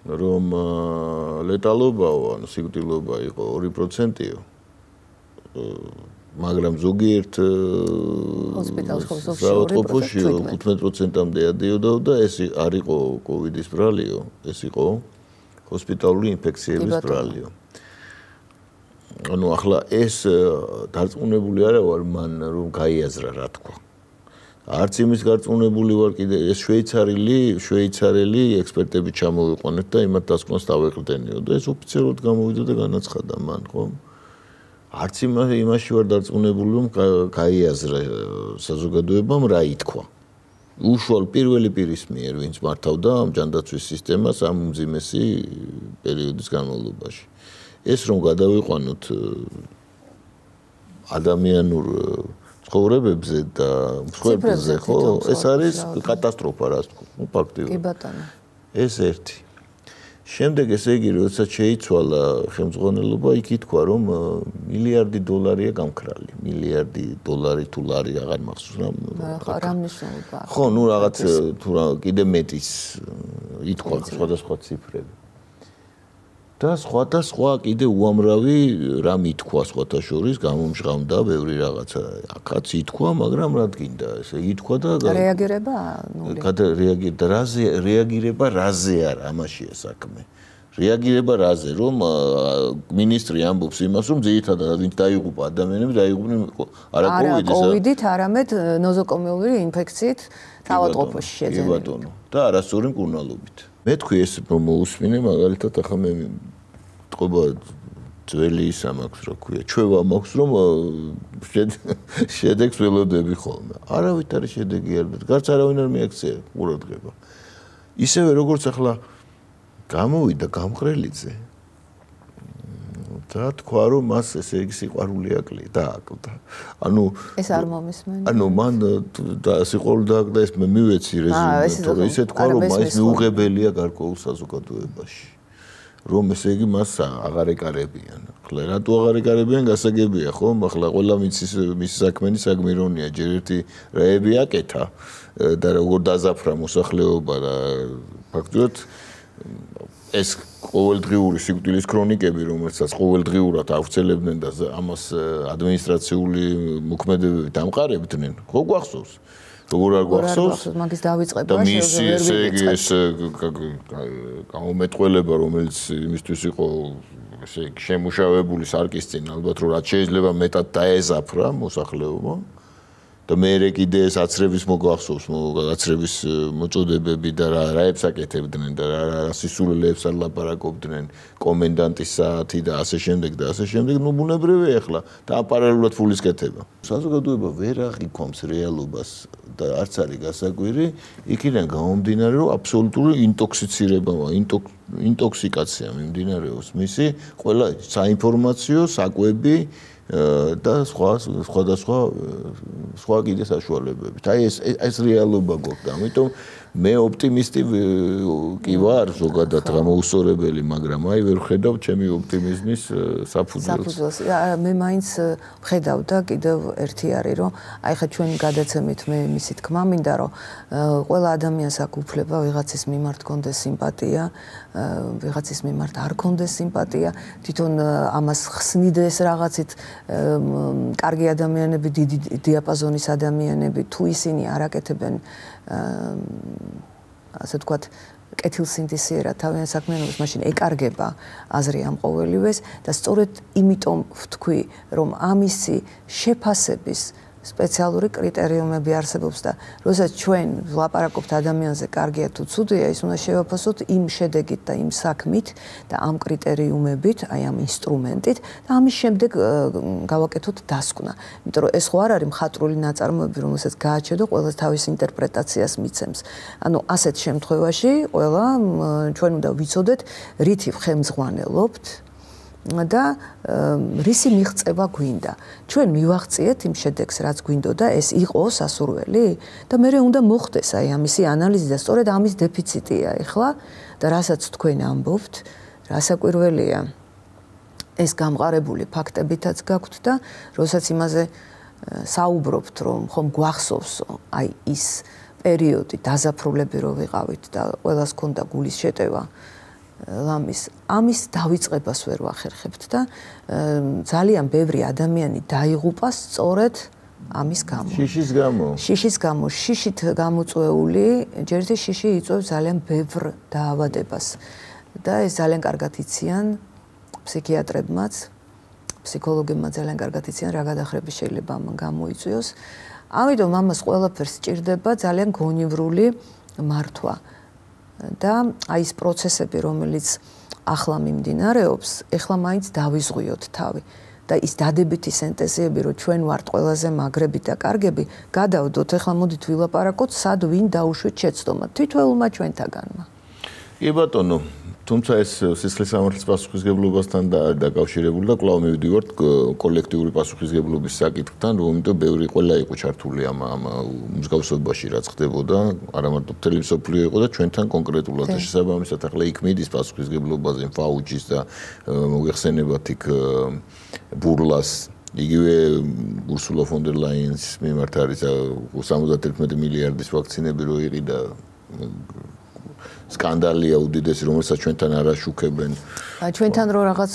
რომ ლეტალობაო, ანუ სიკვდილობა იყო 2%-ო. მაგრამ ზოგიერთ საავადმყოფოში 15%-მდე ადიოდა და ეს არ იყო კოვიდის ბრალიო, ეს იყო ჰოსპიტალური ინფექციების ბრალიო. ანუ ახლა ეს დარწმუნებული არა ვარ მან რომ გაიაზრა რა თქვა. არც იმის გარწმუნებული ვარ კიდე ეს შვეიცარელი ექსპერტები ჩამოვიყვანეთ და იმათ დასკვნას დავეყრდენიო და ეს ოფიციალურად გამოვიდა და განაცხადა მან ხო არც იმაში ვარ დარწმუნებული რომ გაიაზრა საზოგადოებამ რა ითქვა უშუალოდ პირველი პირის მიერ ვინც მართავდა ამ ჯანდაცვის სისტემას ამ უმძიმესი პერიოდის განმავლობაში ეს რომ გადავიყვანოთ ადამიანურ ცხოვრებებზე და მსხვერპლზე ხო ეს არის კატასტროფა რას თქო ფაქტიურად კი ბატონო ეს ერთი შემდეგ ესე იგი როდესაც შეიცვალა ხელმძღვანელობა იქ ითქვა რომ $1 მილიარდია გამქრალი $1 თუ ლარი აღარ მახსოვს რა მნიშვნელობა აქვს ხო ნუ რაღაც თუ კიდე მეტის ითქვა სხვადასხვა ციფრები და სხვა კიდე უამრავი რამ ითქვა სხვათა შორის გამომჟღავდა ბევრი რაღაცა აქაც ითქვა მაგრამ რა გინდა ესე ითქვა და რეაგირება რეაგირება რაზე არა ამაშია საქმე რეაგირება რაზე რომ მინისტრი ამბობს იმას რომ ძირითადად ვინც დაიღუპა ადამიანები დაიღუპნენ არა კოვიდით არამედ ნოზოკომიალური ინფექციით თავადყოფოში შეძენილი კი ბატონო და არასწორი მკურნალობით მე თქვი ეს რომ მოусმინე მაგალითად ახლა მე თქობა ძველი ისა მაქვს რა ქვია ჩვევა მაქვს რომ შედეგს ველოდები ხოლმე არავით არის შედეგი არ გარც არავინ არ მიაქცია ყურადღება ისევე როგორც ახლა გამოვიდა გამყრელიძე და თქვა რომ მას ესე იგი სიყვარული დააკლდა ანუ ეს არ მომისმენია ანუ მან და სიყვარული დააკლდა ეს მე მივეცი რეზუმე ისე თქვა რომ ეს მიუღებელია გარკვეულ საზოგადოებაში რომ ესე იგი მას აღარ ეკარებიან. ახლა რატო აღარ ეკარებიან გასაგებია ხო? ახლა ყველა მის საქმენი საგმირონია, ჯერ ერთი რაები აკეთა და როგორ დაზაფრა მოსახლეობა და ფაქტობრივად ეს ყოველდღიური სიკვდილის ქრონიკები, რომელსაც ყოველდღიურად ავრცელებდნენ და ამას ადმინისტრაციული მოქმედებები დამყარებდნენ, ხო გვახსოვს? როგორ არ გვახსოვს? მაგის დავიწყება და მისი ესე იგი ეს გამომეტყველება, რომელიც იმისთვის იყო ესე იგი შემუშავებული სარკის წინ, ალბათ რომ რაც შეიძლება მეტად დაეზაფრა მოსახლეობა. და მე კიდე ეს აცრების მოგვახსოვს, აცრების მოწოდებები და რაებს აკეთებდნენ და რა სისულელეებს არ ლაპარაკობდნენ, კომენდანტის საათი და ასე შემდეგ და ასე შემდეგ, ნუ ბუნებრივია ახლა და პარალელურად ფულის კეთება. საზოგადოება ვერ აღიქვამს რეალობას და არც არის გასაკვირი, იქიდან გამომდინარე, რომ აბსოლუტური ინტოქსიკაცია მიმდინარეობს მისი ყველა საინფორმაციო, საკვები და სხვა კიდე საშუალებებით. აი ეს რეალობა გვაქვს. ამიტომ მე ოპტიმისტი კი ვარ, ზოგადად გამოუსწორებელი, მაგრამ აი ვერ ხედავ ჩემი ოპტიმიზმის საფუძველს. მე მაინც ვხედავ და კიდევ ერთი არის, რომ აი ხა ჩვენ გადაცემით მე მისი თქმა მინდა, რომ ყველა ადამიანს აქვს უფლება ვიღაცის მიმართ კონდეს სიმპათია, ვიღაცის მიმართ არ კონდეს სიმპათია, თვითონ ამას ხსნიდეს რაღაცით კარგი ადამიანები, დიდი დიაპაზონის ადამიანები, თუ ისინი არ აკეთებენ ასე ვთქვათ, კეთილსინდისიერად თავიანთ საქმიანობას, მაშინ ეკარგება აზრი ამ ყოველივეს და სწორედ იმიტომ ვთქვი, რომ ამისი შეფასების სპეციალური კრიტერიუმები არსებობს და როდესაც ჩვენ ვლაპარაკობთ ადამიანზე კარგია თუ ცუდია, ის უნდა შევაფასოთ იმ შედეგით და იმ საქმით და ამ კრიტერიუმებით, აი ამ ინსტრუმენტით და ამის შემდეგ გავაკეთოთ დასკვნა. იმიტომ რომ ეს ხო არ არის მხატვრული ნაწარმოები, რომელსაც გააჩედო ყველა თავის ინტერპრეტაციას მიცემს. ანუ ასეთ შემთხვევაში ყველა ჩვენ უნდა ვიცოდეთ, რითი ხემძღვანელობთ და რისი მიღწევა გვინდა. ჩვენ მივაღწიეთ იმ შედეგს, რაც გვინდოდა, ეს იყო სასურველი და მე უნდა მოხდეს აი ამისი ანალიზი და სწორედ ამის დეფიციტია ეხლა და რასაც თქვენ ამბობთ, რასაკვირველია ეს გამყარებული ფაქტებითაც გაქვთ და როდესაც იმაზე საუბრობთ, რომ ხომ გვახსოვს აი ის პერიოდი დაზაფრულები რო ვიყავით და ყველას ჰქონდა გულის შეტევა ამის დავიწყებას ვერ ვახერხებთ და ძალიან ბევრი ადამიანი დაიღუპა სწორედ ამის გამო. შიშის გამო, შიშით გამოწვეული, ჯერ ერთი შიში იწვევს ძალიან ბევრ დაავადებას და ეს ძალიან კარგად იციან ფსიქიატრებმაც, ფსიქოლოგებმა ძალიან კარგად იციან რა გადახრები შეიძლება ამ გამოიწვიოს. ამიტომ ამას ყველაფერს სჭირდება ძალიან გონივრული მართვა. და აი ეს პროცესები, რომელიც ახლა მიმდინარეობს, ეხლა მაინც დავიზღვიოთ თავი. და ის დადებითი სენტენზიები, რომ ჩვენ ვართ ყველაზე მაგრები და კარგები, გადავდოთ, ეხლა მოდით ვილაპარაკოთ, სად ვინ დაუშვით შეცდომა, თვითველმა ჩვენთაგანმა. კი ბატონო, თუმცა ეს სისხლის სამართლის პასუხისგებლობასთან დაკავშირებული და კვლავ მივდივართ კოლექტიური პასუხისგებლობის საკითხთან, რომ ბევრი ყველა იყო ჩართული ამ მსგავსობაში, რაც ხდებოდა, არა მარტო მთელი მსოფლიო იყო და ჩვენთან კონკრეტულად და შესაბამისად ახლა იქ მიდის პასუხისგებლობაზე ფაუჩის და მოიხსენებათ იქ ბურლას იგივე ურსულა ფონ დერ ლაიენს მიმართ არის 71 მილიარდის ვაქცინები რო იყიდა სკანდალია უდიდესი, რომელსაც ჩვენთან არ აშუქებენ. ჩვენთან რო რაღაც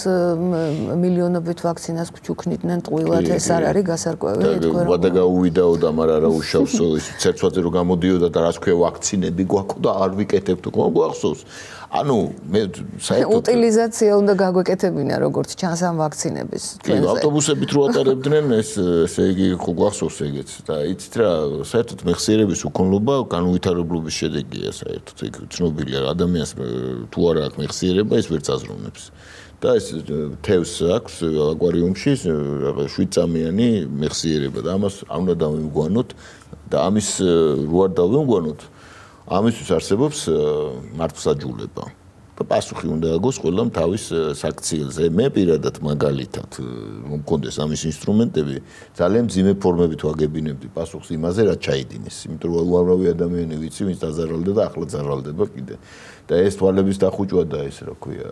მილიონობით ვაქცინას გჩუქნიდნენ ტყუილად, ეს არ არის გასარკვევი, თქვენ რა. და გაუვიდაო და მაგრამ არა უშავსო, ის ცერცვაზე რო გამოდიოდა და რას ქვია ვაქცინები გვაქვს და არ ვიკეთებთ, გვახსოვს. ანუ მე საერთოდ უტილიზაცია უნდა გაგვეკეთებინა როგორც ჩანს ამ ვაქცინების. კი, ავტობუსებით რო ატარებდნენ ეს ესე იგი ხო გვახსოვს ეგეც და იცით რა, საერთოდ მეხსიერების უკონლობა განუვითარებლობის შედეგია საერთოდ ეგ ცნობილია ადამიანს თუ არა აქვს მეხსიერება ის ვერ წაზრუნებს. და ეს თევს აქვს აკვარიუმში 7 წამიანი მეხსიერება და ამას არ უნდა დავიმგვანოთ და ამის რო არ დავიმგვანოთ ამისთვის არსებობს მართლმსაჯულება და პასუხი უნდა აგოს ყველამ თავის საქციელზე. მე პირადად მაგალითად რომ მქონდეს ამის ინსტრუმენტები ძალიან მძიმე ფორმებით ვაგებინებდი პასუხს იმაზე რაც ჩაიდინეს. იმიტომ რომ უამრავი ადამიანი ვიცი ვინც დაზარალდა და ახლა ზარალდება კიდე. და ეს თვალების დახუჭვა და ეს რა ქვია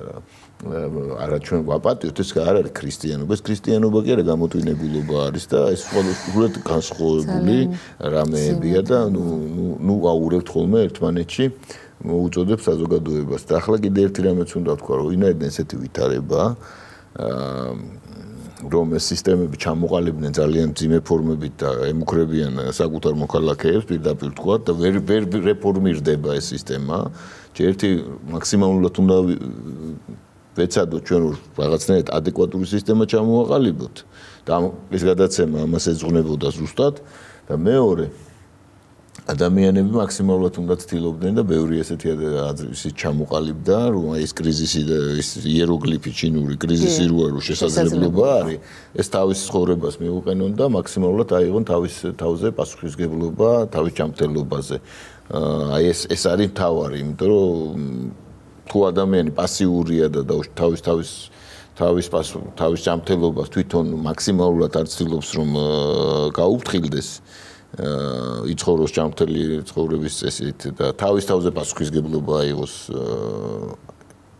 არა ჩვენ ვაპატიოთ ეს არ არის ქრისტიანობა. ეს ქრისტიანობა კი არა გამოტვინებულობა არის და ეს სულად განსხვავებული რამეებია და ნუ აურევთ ხოლმე ერთმანეთში მოუწოდებს საზოგადოებას. და ახლა კიდე ერთი რამეც უნდა ვთქვა, რომ ვინაიდან ესეთი ვითარება რომ ეს სისტემები ჩამოყალიბდნენ ძალიან მძიმე ფორმებით და ემუქრებიან საკუთარ მოქალაქეებს პირდაპირ თქვა და ვერ რეფორმირდება ეს სისტემა. ერთი მაქსიმალურად უნდა ვეცადოთ ჩვენ რაღაცნაირად ადეკვატური სისტემა ჩამოვაყალიბოთ და ეს გადაცემა ამას ეძღვნებოდა ზუსტად და მეორე ადამიანები მაქსიმალურად უნდა ცდილობდნენ და ბევრი ესეთი აზრი ჩამოყალიბდა რომ ეს კრიზისი და ეს იეროგლიფი ჩინური კრიზისი რო შესაძლებლობა არის ეს თავის ცხოვრებას მიუყენონ და მაქსიმალურად აიღონ თავის თავზე პასუხისგებლობა თავის ჯანმრთელობაზე. აი ეს არის მთავარი, იმიტომ რომ თუ ადამიანი პასიურია და თავის ჯანმრთელობას თვითონ მაქსიმალურად არ ცდილობს რომ გაუფრთხილდეს იცხოვროს ჯანმრთელი ცხოვრების წესით და თავის თავზე პასუხისგებლობა აიღოს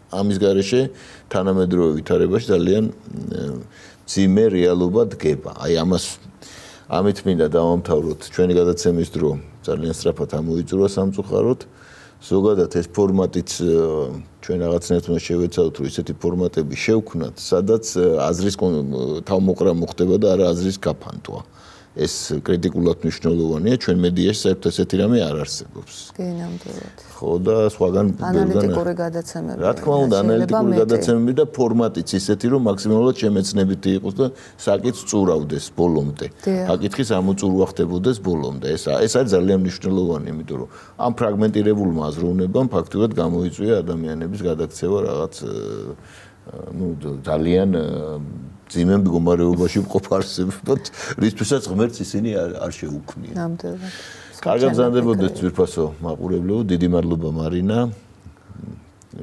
ამის გარეშე თანამედროვე ვითარებაში ძალიან მძიმე რეალობა დგება. აი ამით მინდა დავამთავროთ ჩვენი გადაცემის დრო. ძალიან სწრაფად ამოიწურა სამწუხაროდ. ზოგადად ეს ფორმატიც ჩვენ რაღაცნაირად უნდა შევეცადოთ, რომ ესეთი ფორმატები შევქმნათ, სადაც აზრის თავმოყრა მოხდება და არა აზრის გაფანტვა. ეს კრიტიკულად მნიშვნელოვანია, ჩვენ მედიაში საერთოდ ესეთი რამე არ არსებობს. კი, ნამდვილად. ხო და სხვაგან ანალიტიკური გადაცემები. რა თქმა უნდა, ანალიტიკური გადაცემები და ფორმატიც ისეთი, რომ მაქსიმალურად შემეცნებითი იყოს და საკითხს წურავდეს ბოლომდე. საკითხის ამოწურვა ხდებოდეს ბოლომდე. ეს არის ძალიან მნიშვნელოვანი, იმიტომ რომ ამ ფრაგმენტირებულმა აზროვნებამ ფაქტობრივად გამოიწვია ადამიანების გადაქცევა რაღაც ძალიან ძიმე მდგომარეობაში მყოფ არსებობთ, რისთვისაც ღმერთს ისინი არ შეუქმნიან. ნამდვილად. კარგად გზანდებოდეთ ძვირფასო მაყურებლებო, დიდი მადლობა მარინა.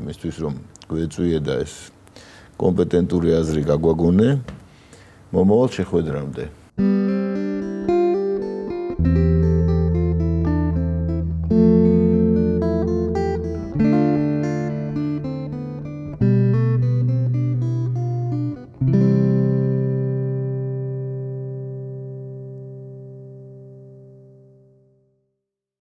იმისთვის რომ გვეწვიე და ეს კომპეტენტური აზრი გაგვაგონე. მომავალ შეხვედრამდე.